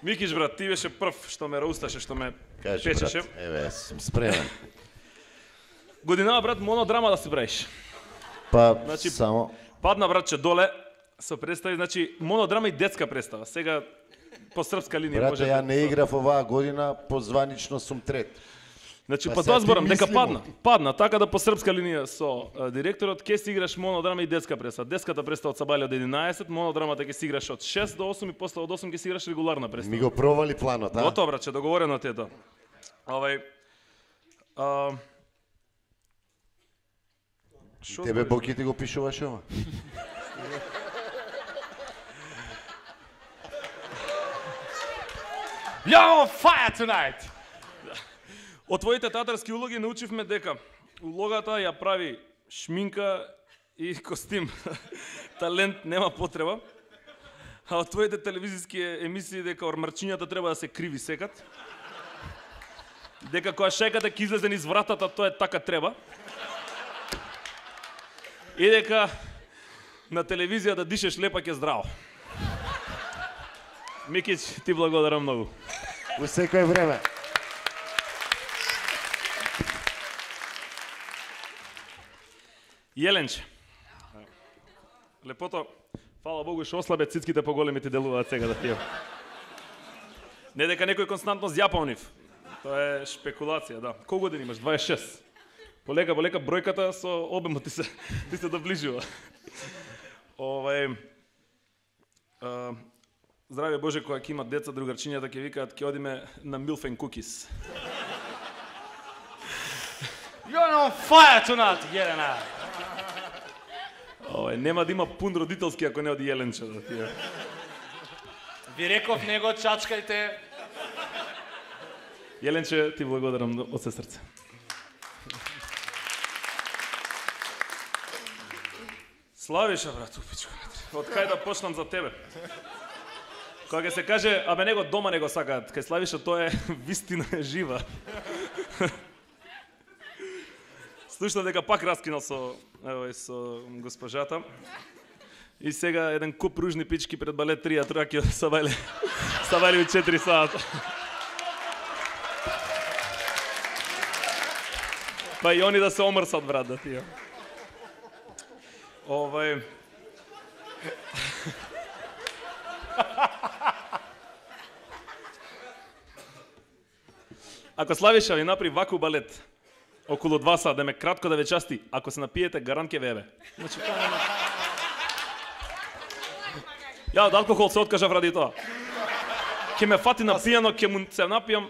Микиш, брат, ти беше прв што ме роусташе, што ме Кажи, печеше. брат, еве, сум спремен. Годинава, брат, монодрама да си правиш. Па, значи, само... Падна, братче, доле, со представи, значи, монодрама и детска представа. Сега, по српска линија Брате, може... ја не играв оваа година, позванично сум трет. Значи, Па па сега тоа ти зборам, дека мислимо. падна. Падна, така да по српска линија со а, директорот ќе си играш монодрама и детска представа. Детската представа од Сабајле од единаесет, монодрамата ќе си играш од шест до осум и после од осум ќе си играш регуларна представа. Ми го провали планот, а? Готово, браче, договорено ти е тоа. Овај... А... Шо Тебе збориш? Боки ти го пишуваш ова? You're on fire tonight! Од твоите театарски улоги научивме дека улогата ја прави шминка и костим. Талент нема потреба. А од твоите телевизиски емисии дека ормарчињата треба да се криви секат. Дека која шајката ќе излезе низ вратата, тоа е така треба. И дека на телевизија да дишеш лепак е здраво. Микич, ти благодарам многу. У секој време. Јеленче. Лепото, фала Богу, што ослабе цицките поголеми ти делуваат сега да тие. Не дека некој константно зјапа нив. Тоа е шпекулација, да. Колку години имаш? дваесет и шест. Полека, полека бројката со обемот ти се ти се доближува. Овај а, здраве Боже, кога ќе имат деца, другарчињата ќе викаат ќе одиме на Milf and Cookies. You're on fire tonight, Jelena! Овај нема да има пун родителски ако не оди Јеленче да тие. Ви реков, не го чачкајте. Јеленче, ти благодарам од се срце. Славиша, брат, упичко. Од кај да почнам за тебе? Кога ќе се каже, абе него дома не го сакаат, кај Славиша тоа е вистина е жива. Слушнав дека пак раскинал со, евој, со госпожата. И сега еден куп ружни пички пред балет три, а траки Сабајле. Сабајле у четири сата. Па и они да се омрсат, брат, да тие. Овај... Ако Славиша ви направи ваку балет, околу два сата, да ме кратко да ве части, ако се напиете, гарант ке вебе. Значи, тоа нема... Ја од алкохол се откажав ради тоа. Ке ме фати на пијано, ке му се напијам.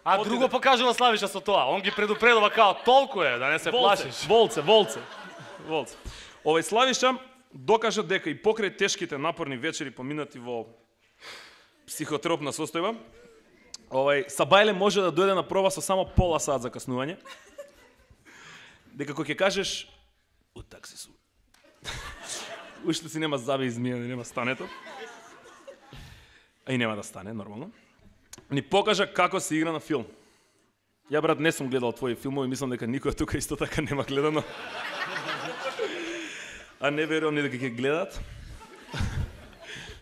А Отиде. друго покажува Славиша со тоа. Он ги предупредува као толку е, да не се Волце, плашиш. волце, волце. Волце. Овој Славиша докажа дека и покрај тешките напорни вечери поминати во психотропна состојба, овај Сабајле може да дојде на проба со само пола сат закаснување. Дека кога ќе кажеш у такси су. Уште си нема заби измијани, нема стането. А и нема да стане, нормално. Ни покажа како се игра на филм. Ја, брат, не сум гледал твои филмови, мислам дека никој тука исто така нема гледано. А не верувам ни дека ќе гледат.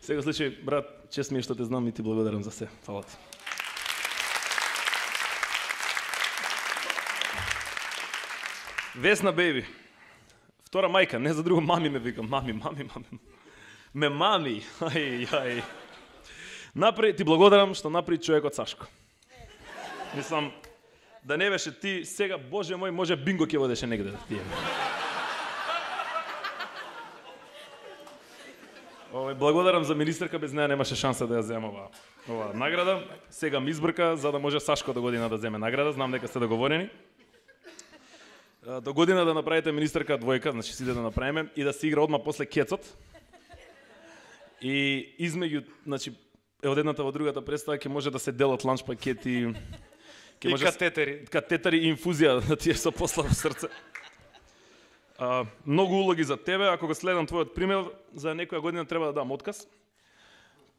Сега случај, брат, чест ми е што те знам и ти благодарам за се. Фала ти. Весна беби. Втора мајка, не за друго, мами ме викам. Мами, мами, мами. Ме мами. Ај, ај. Напри, ти благодарам што направи човекот Сашко. Мислам, да не беше ти, сега, Боже мој, може бинго ќе водеше негде да тие. Овој, благодарам за министерка, без неа немаше шанса да ја земам ова, ова награда. Сега ми избрка, за да може Сашко до година да земе награда, знам дека сте договорени. До година да направите министерка двојка, значи сиде да направиме, и да се игра одма после кецот. И измеѓу, значи, е од едната во другата представа ќе може да се делат ланч пакети, и може катетери, катетери и инфузија да ти е со посла во срце. А, многу улоги за тебе, ако го следам твојот пример, за некоја година треба да дам отказ,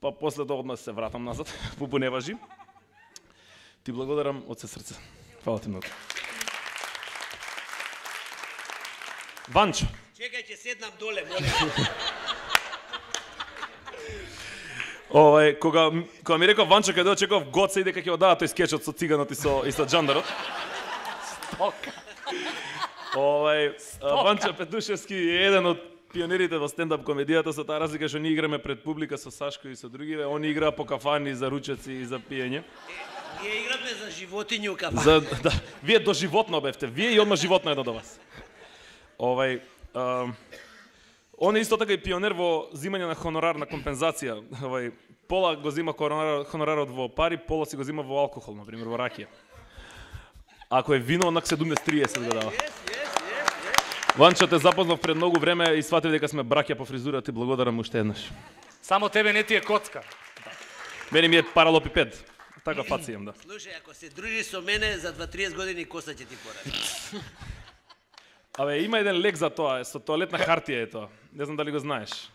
па после тоа одмah се вратам назад, пупу не важи. Ти благодарам од се срце. Фала ти многу. Ванчо. Чекај, ќе седнам доле, моле. Овај, кога, кога ми реков Ванчо каде очеков Гоце и дека ќе одава тој скечот со циганот и со, и со джандарот. Стока. Овај, Ванчо Петушевски е еден од пионерите во стендап комедијата, со таа разлика што ние играме пред публика со Сашко и со другиве, он игра по кафани за ручеци и за пиење. Ние играме за животињу кафани. За, да, вие до животно бевте, вие и одма животно едно до вас. Овај, а, он е исто така и пионер во зимање на хонорарна компензација. Овај, пола го зима хонорар, хонорарот во пари, пола си го зима во алкохол, на пример во ракија. Ако е вино, онак седумдесет триесет го дава. Ванчо, те запознав пред многу време и сватив дека сме браќа по фризура, ти благодарам уште еднаш. Само тебе не ти е коцка. Мене ми е паралопипед. Така фаци имам, да. Слушај, ако се дружиш со мене, за дваесет години коса ќе ти поради. Абе, има еден лек за тоа, со тоалетна хартија е тоа. Не знам дали го знаеш.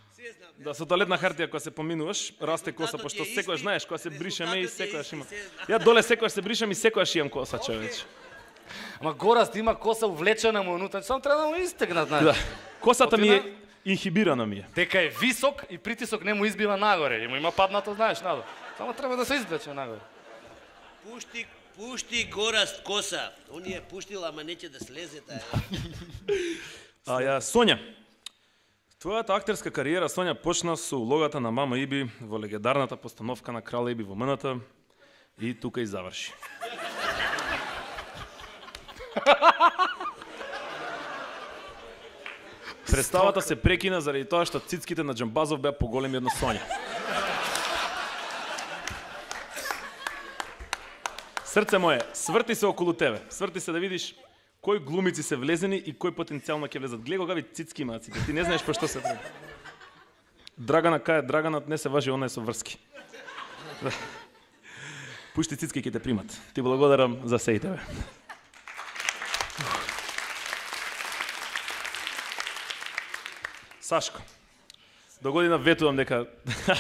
Да, со тоалетна хартија кога се поминуваш, расте коса, пошто секојаш знаеш, кога се бришеме и секојаш има. Ја доле секојаш се бришам и секојаш имам коса, човече. Ама Гораст има коса увлечена му внутре, само треба да му истегнат, знаеш. Да. Косата ми е инхибирана ми е. Дека е висок и притисок не му избива нагоре, и му има паднато, знаеш, надо. Само треба да се извлече нагоре. Пушти, пушти Гораст коса. Он ја пуштил, ама неќе да слезе таа. А ја Сонја. Твојата актерска кариера, Сонја, почна со улогата на Мама Иби во легендарната постановка на Крал Иби во М-ната и тука и заврши. Представата се прекина заради тоа што цицките на Џамбазов беа поголеми од на Сонја. Срце мое, сврти се околу тебе. Сврти се да видиш кои глумици се влезени и кои потенцијално ќе влезат. Гледа какви цицки имаат сите. Ти не знаеш по што се прави. Драгана кај Драганат не се важи, она е со врски. Пушти цицки ќе те примат. Ти благодарам за се и тебе. Сашко, до година ветувам дека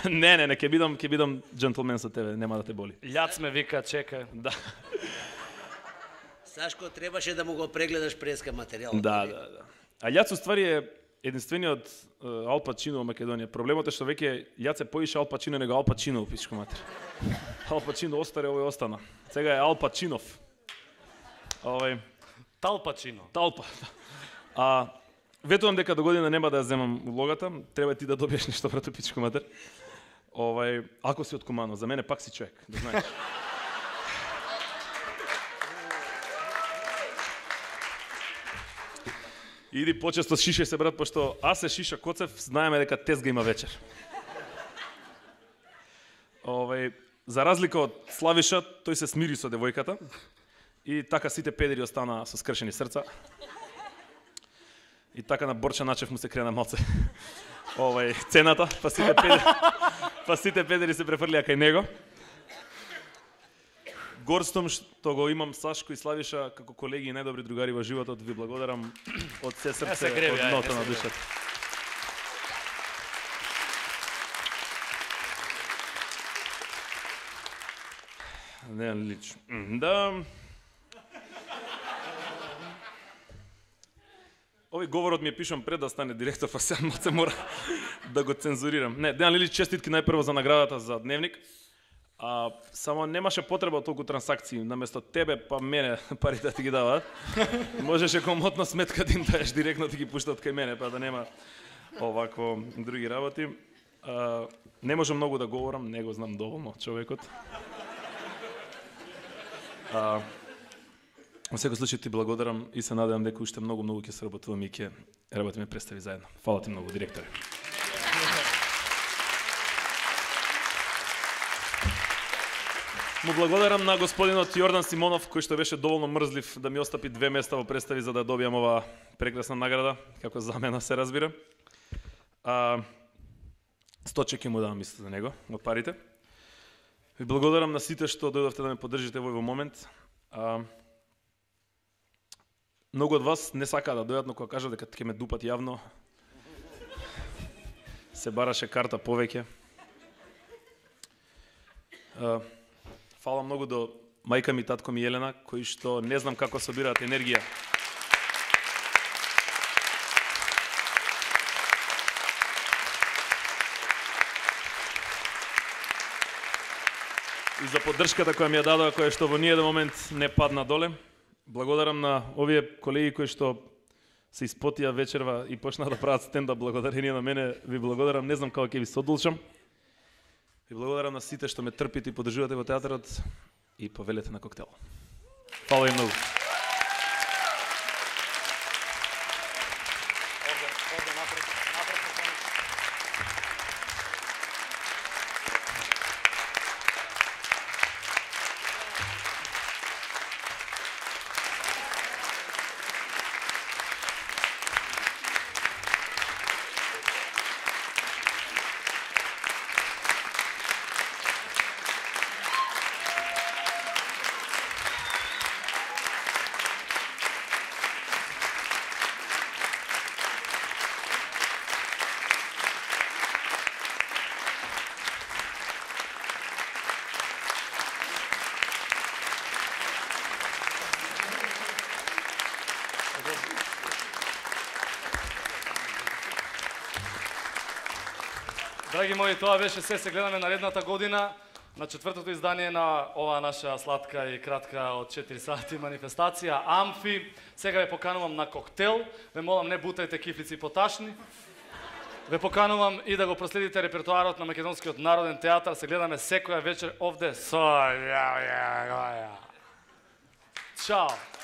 не, не, не, ќе бидам, ќе бидам джентлмен со тебе, нема да те боли. Љац ме вика, чекај. Да. Сашко, требаше да му го прегледаш преска материјал. Да, да, да. А Љац уствари е единствениот Ал Пачино во Македонија. Проблемот е што веќе Љац е поише Ал Пачино него Ал Пачино во пичко матер. Ал Пачино остаре, овој остана. Сега е Ал Пачинов. Овој Тал Пачино. Талпа. А ветувам дека до година нема да ја земам улогата, треба ти да добиеш нешто брато пичко матер. Овај, ако си од Кумано, за мене пак си човек, да знаеш. Иди почесто шишај се брат, пошто аз се шиша Коцев, знаеме дека тезга има вечер. Овај, за разлика од Славиша, тој се смири со девојката и така сите педери останаа со скршени срца. И така на Борча Начев му се крена малце овај цената, па сите педери, па сите педери се префрлија кај него. Горстом што го имам Сашко и Славиша како колеги и најдобри другари во животот, ви благодарам од се срце, од дното на душата. Не лично. Да. Овој говорот ми е пишам пред да стане директор, па сега се мора да го цензурирам. Не, Дејан Лилич, честитки најпрво за наградата за Дневник. А, само немаше потреба од толку трансакции, наместо тебе па мене парите да ти ги даваат. Можеше комотно сметка да им даеш директно ти ги пуштат кај мене, па да нема овакво други работи. А, не можам многу да говорам, не го знам доволно човекот. А, во секој случај ти благодарам и се надевам дека уште многу многу ќе сработуваме и ќе работиме представи заедно. Фала ти многу, директоре. Му благодарам на господинот Јордан Симонов, кој што беше доволно мрзлив да ми остапи две места во представи за да добијам ова прекрасна награда, како замена се разбира. А, сто чеки му давам исто за него, од парите. Ви благодарам на сите што дојдовте да ме поддржите во овој момент. А, многу од вас не сакаа да дојдат, но кога кажа дека ќе ме дупат јавно, се бараше карта повеќе. А, фала многу до мајка ми, татко ми Елена, кои што не знам како собираат енергија. И за поддршката која ми ја дадоа, која што во ниеден момент не падна доле. Благодарам на овие колеги кои што се испотија вечерва и почнаа да прават стендап благодарение на мене. Ви благодарам, не знам како ќе ви содолжам. Ви благодарам на сите што ме трпите и поддржувате во театарот и повелете на коктел. Фала ви многу. Драги мои, тоа беше се, се гледаме наредната година на четвртото издание на оваа наша сладка и кратка од четири сати манифестација Амфи. Сега ве поканувам на коктел. Ве молам, не бутајте кифлици поташни. Ве поканувам и да го проследите репертоарот на Македонскиот народен театар. Се гледаме секоја вечер овде со Чао.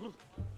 Look.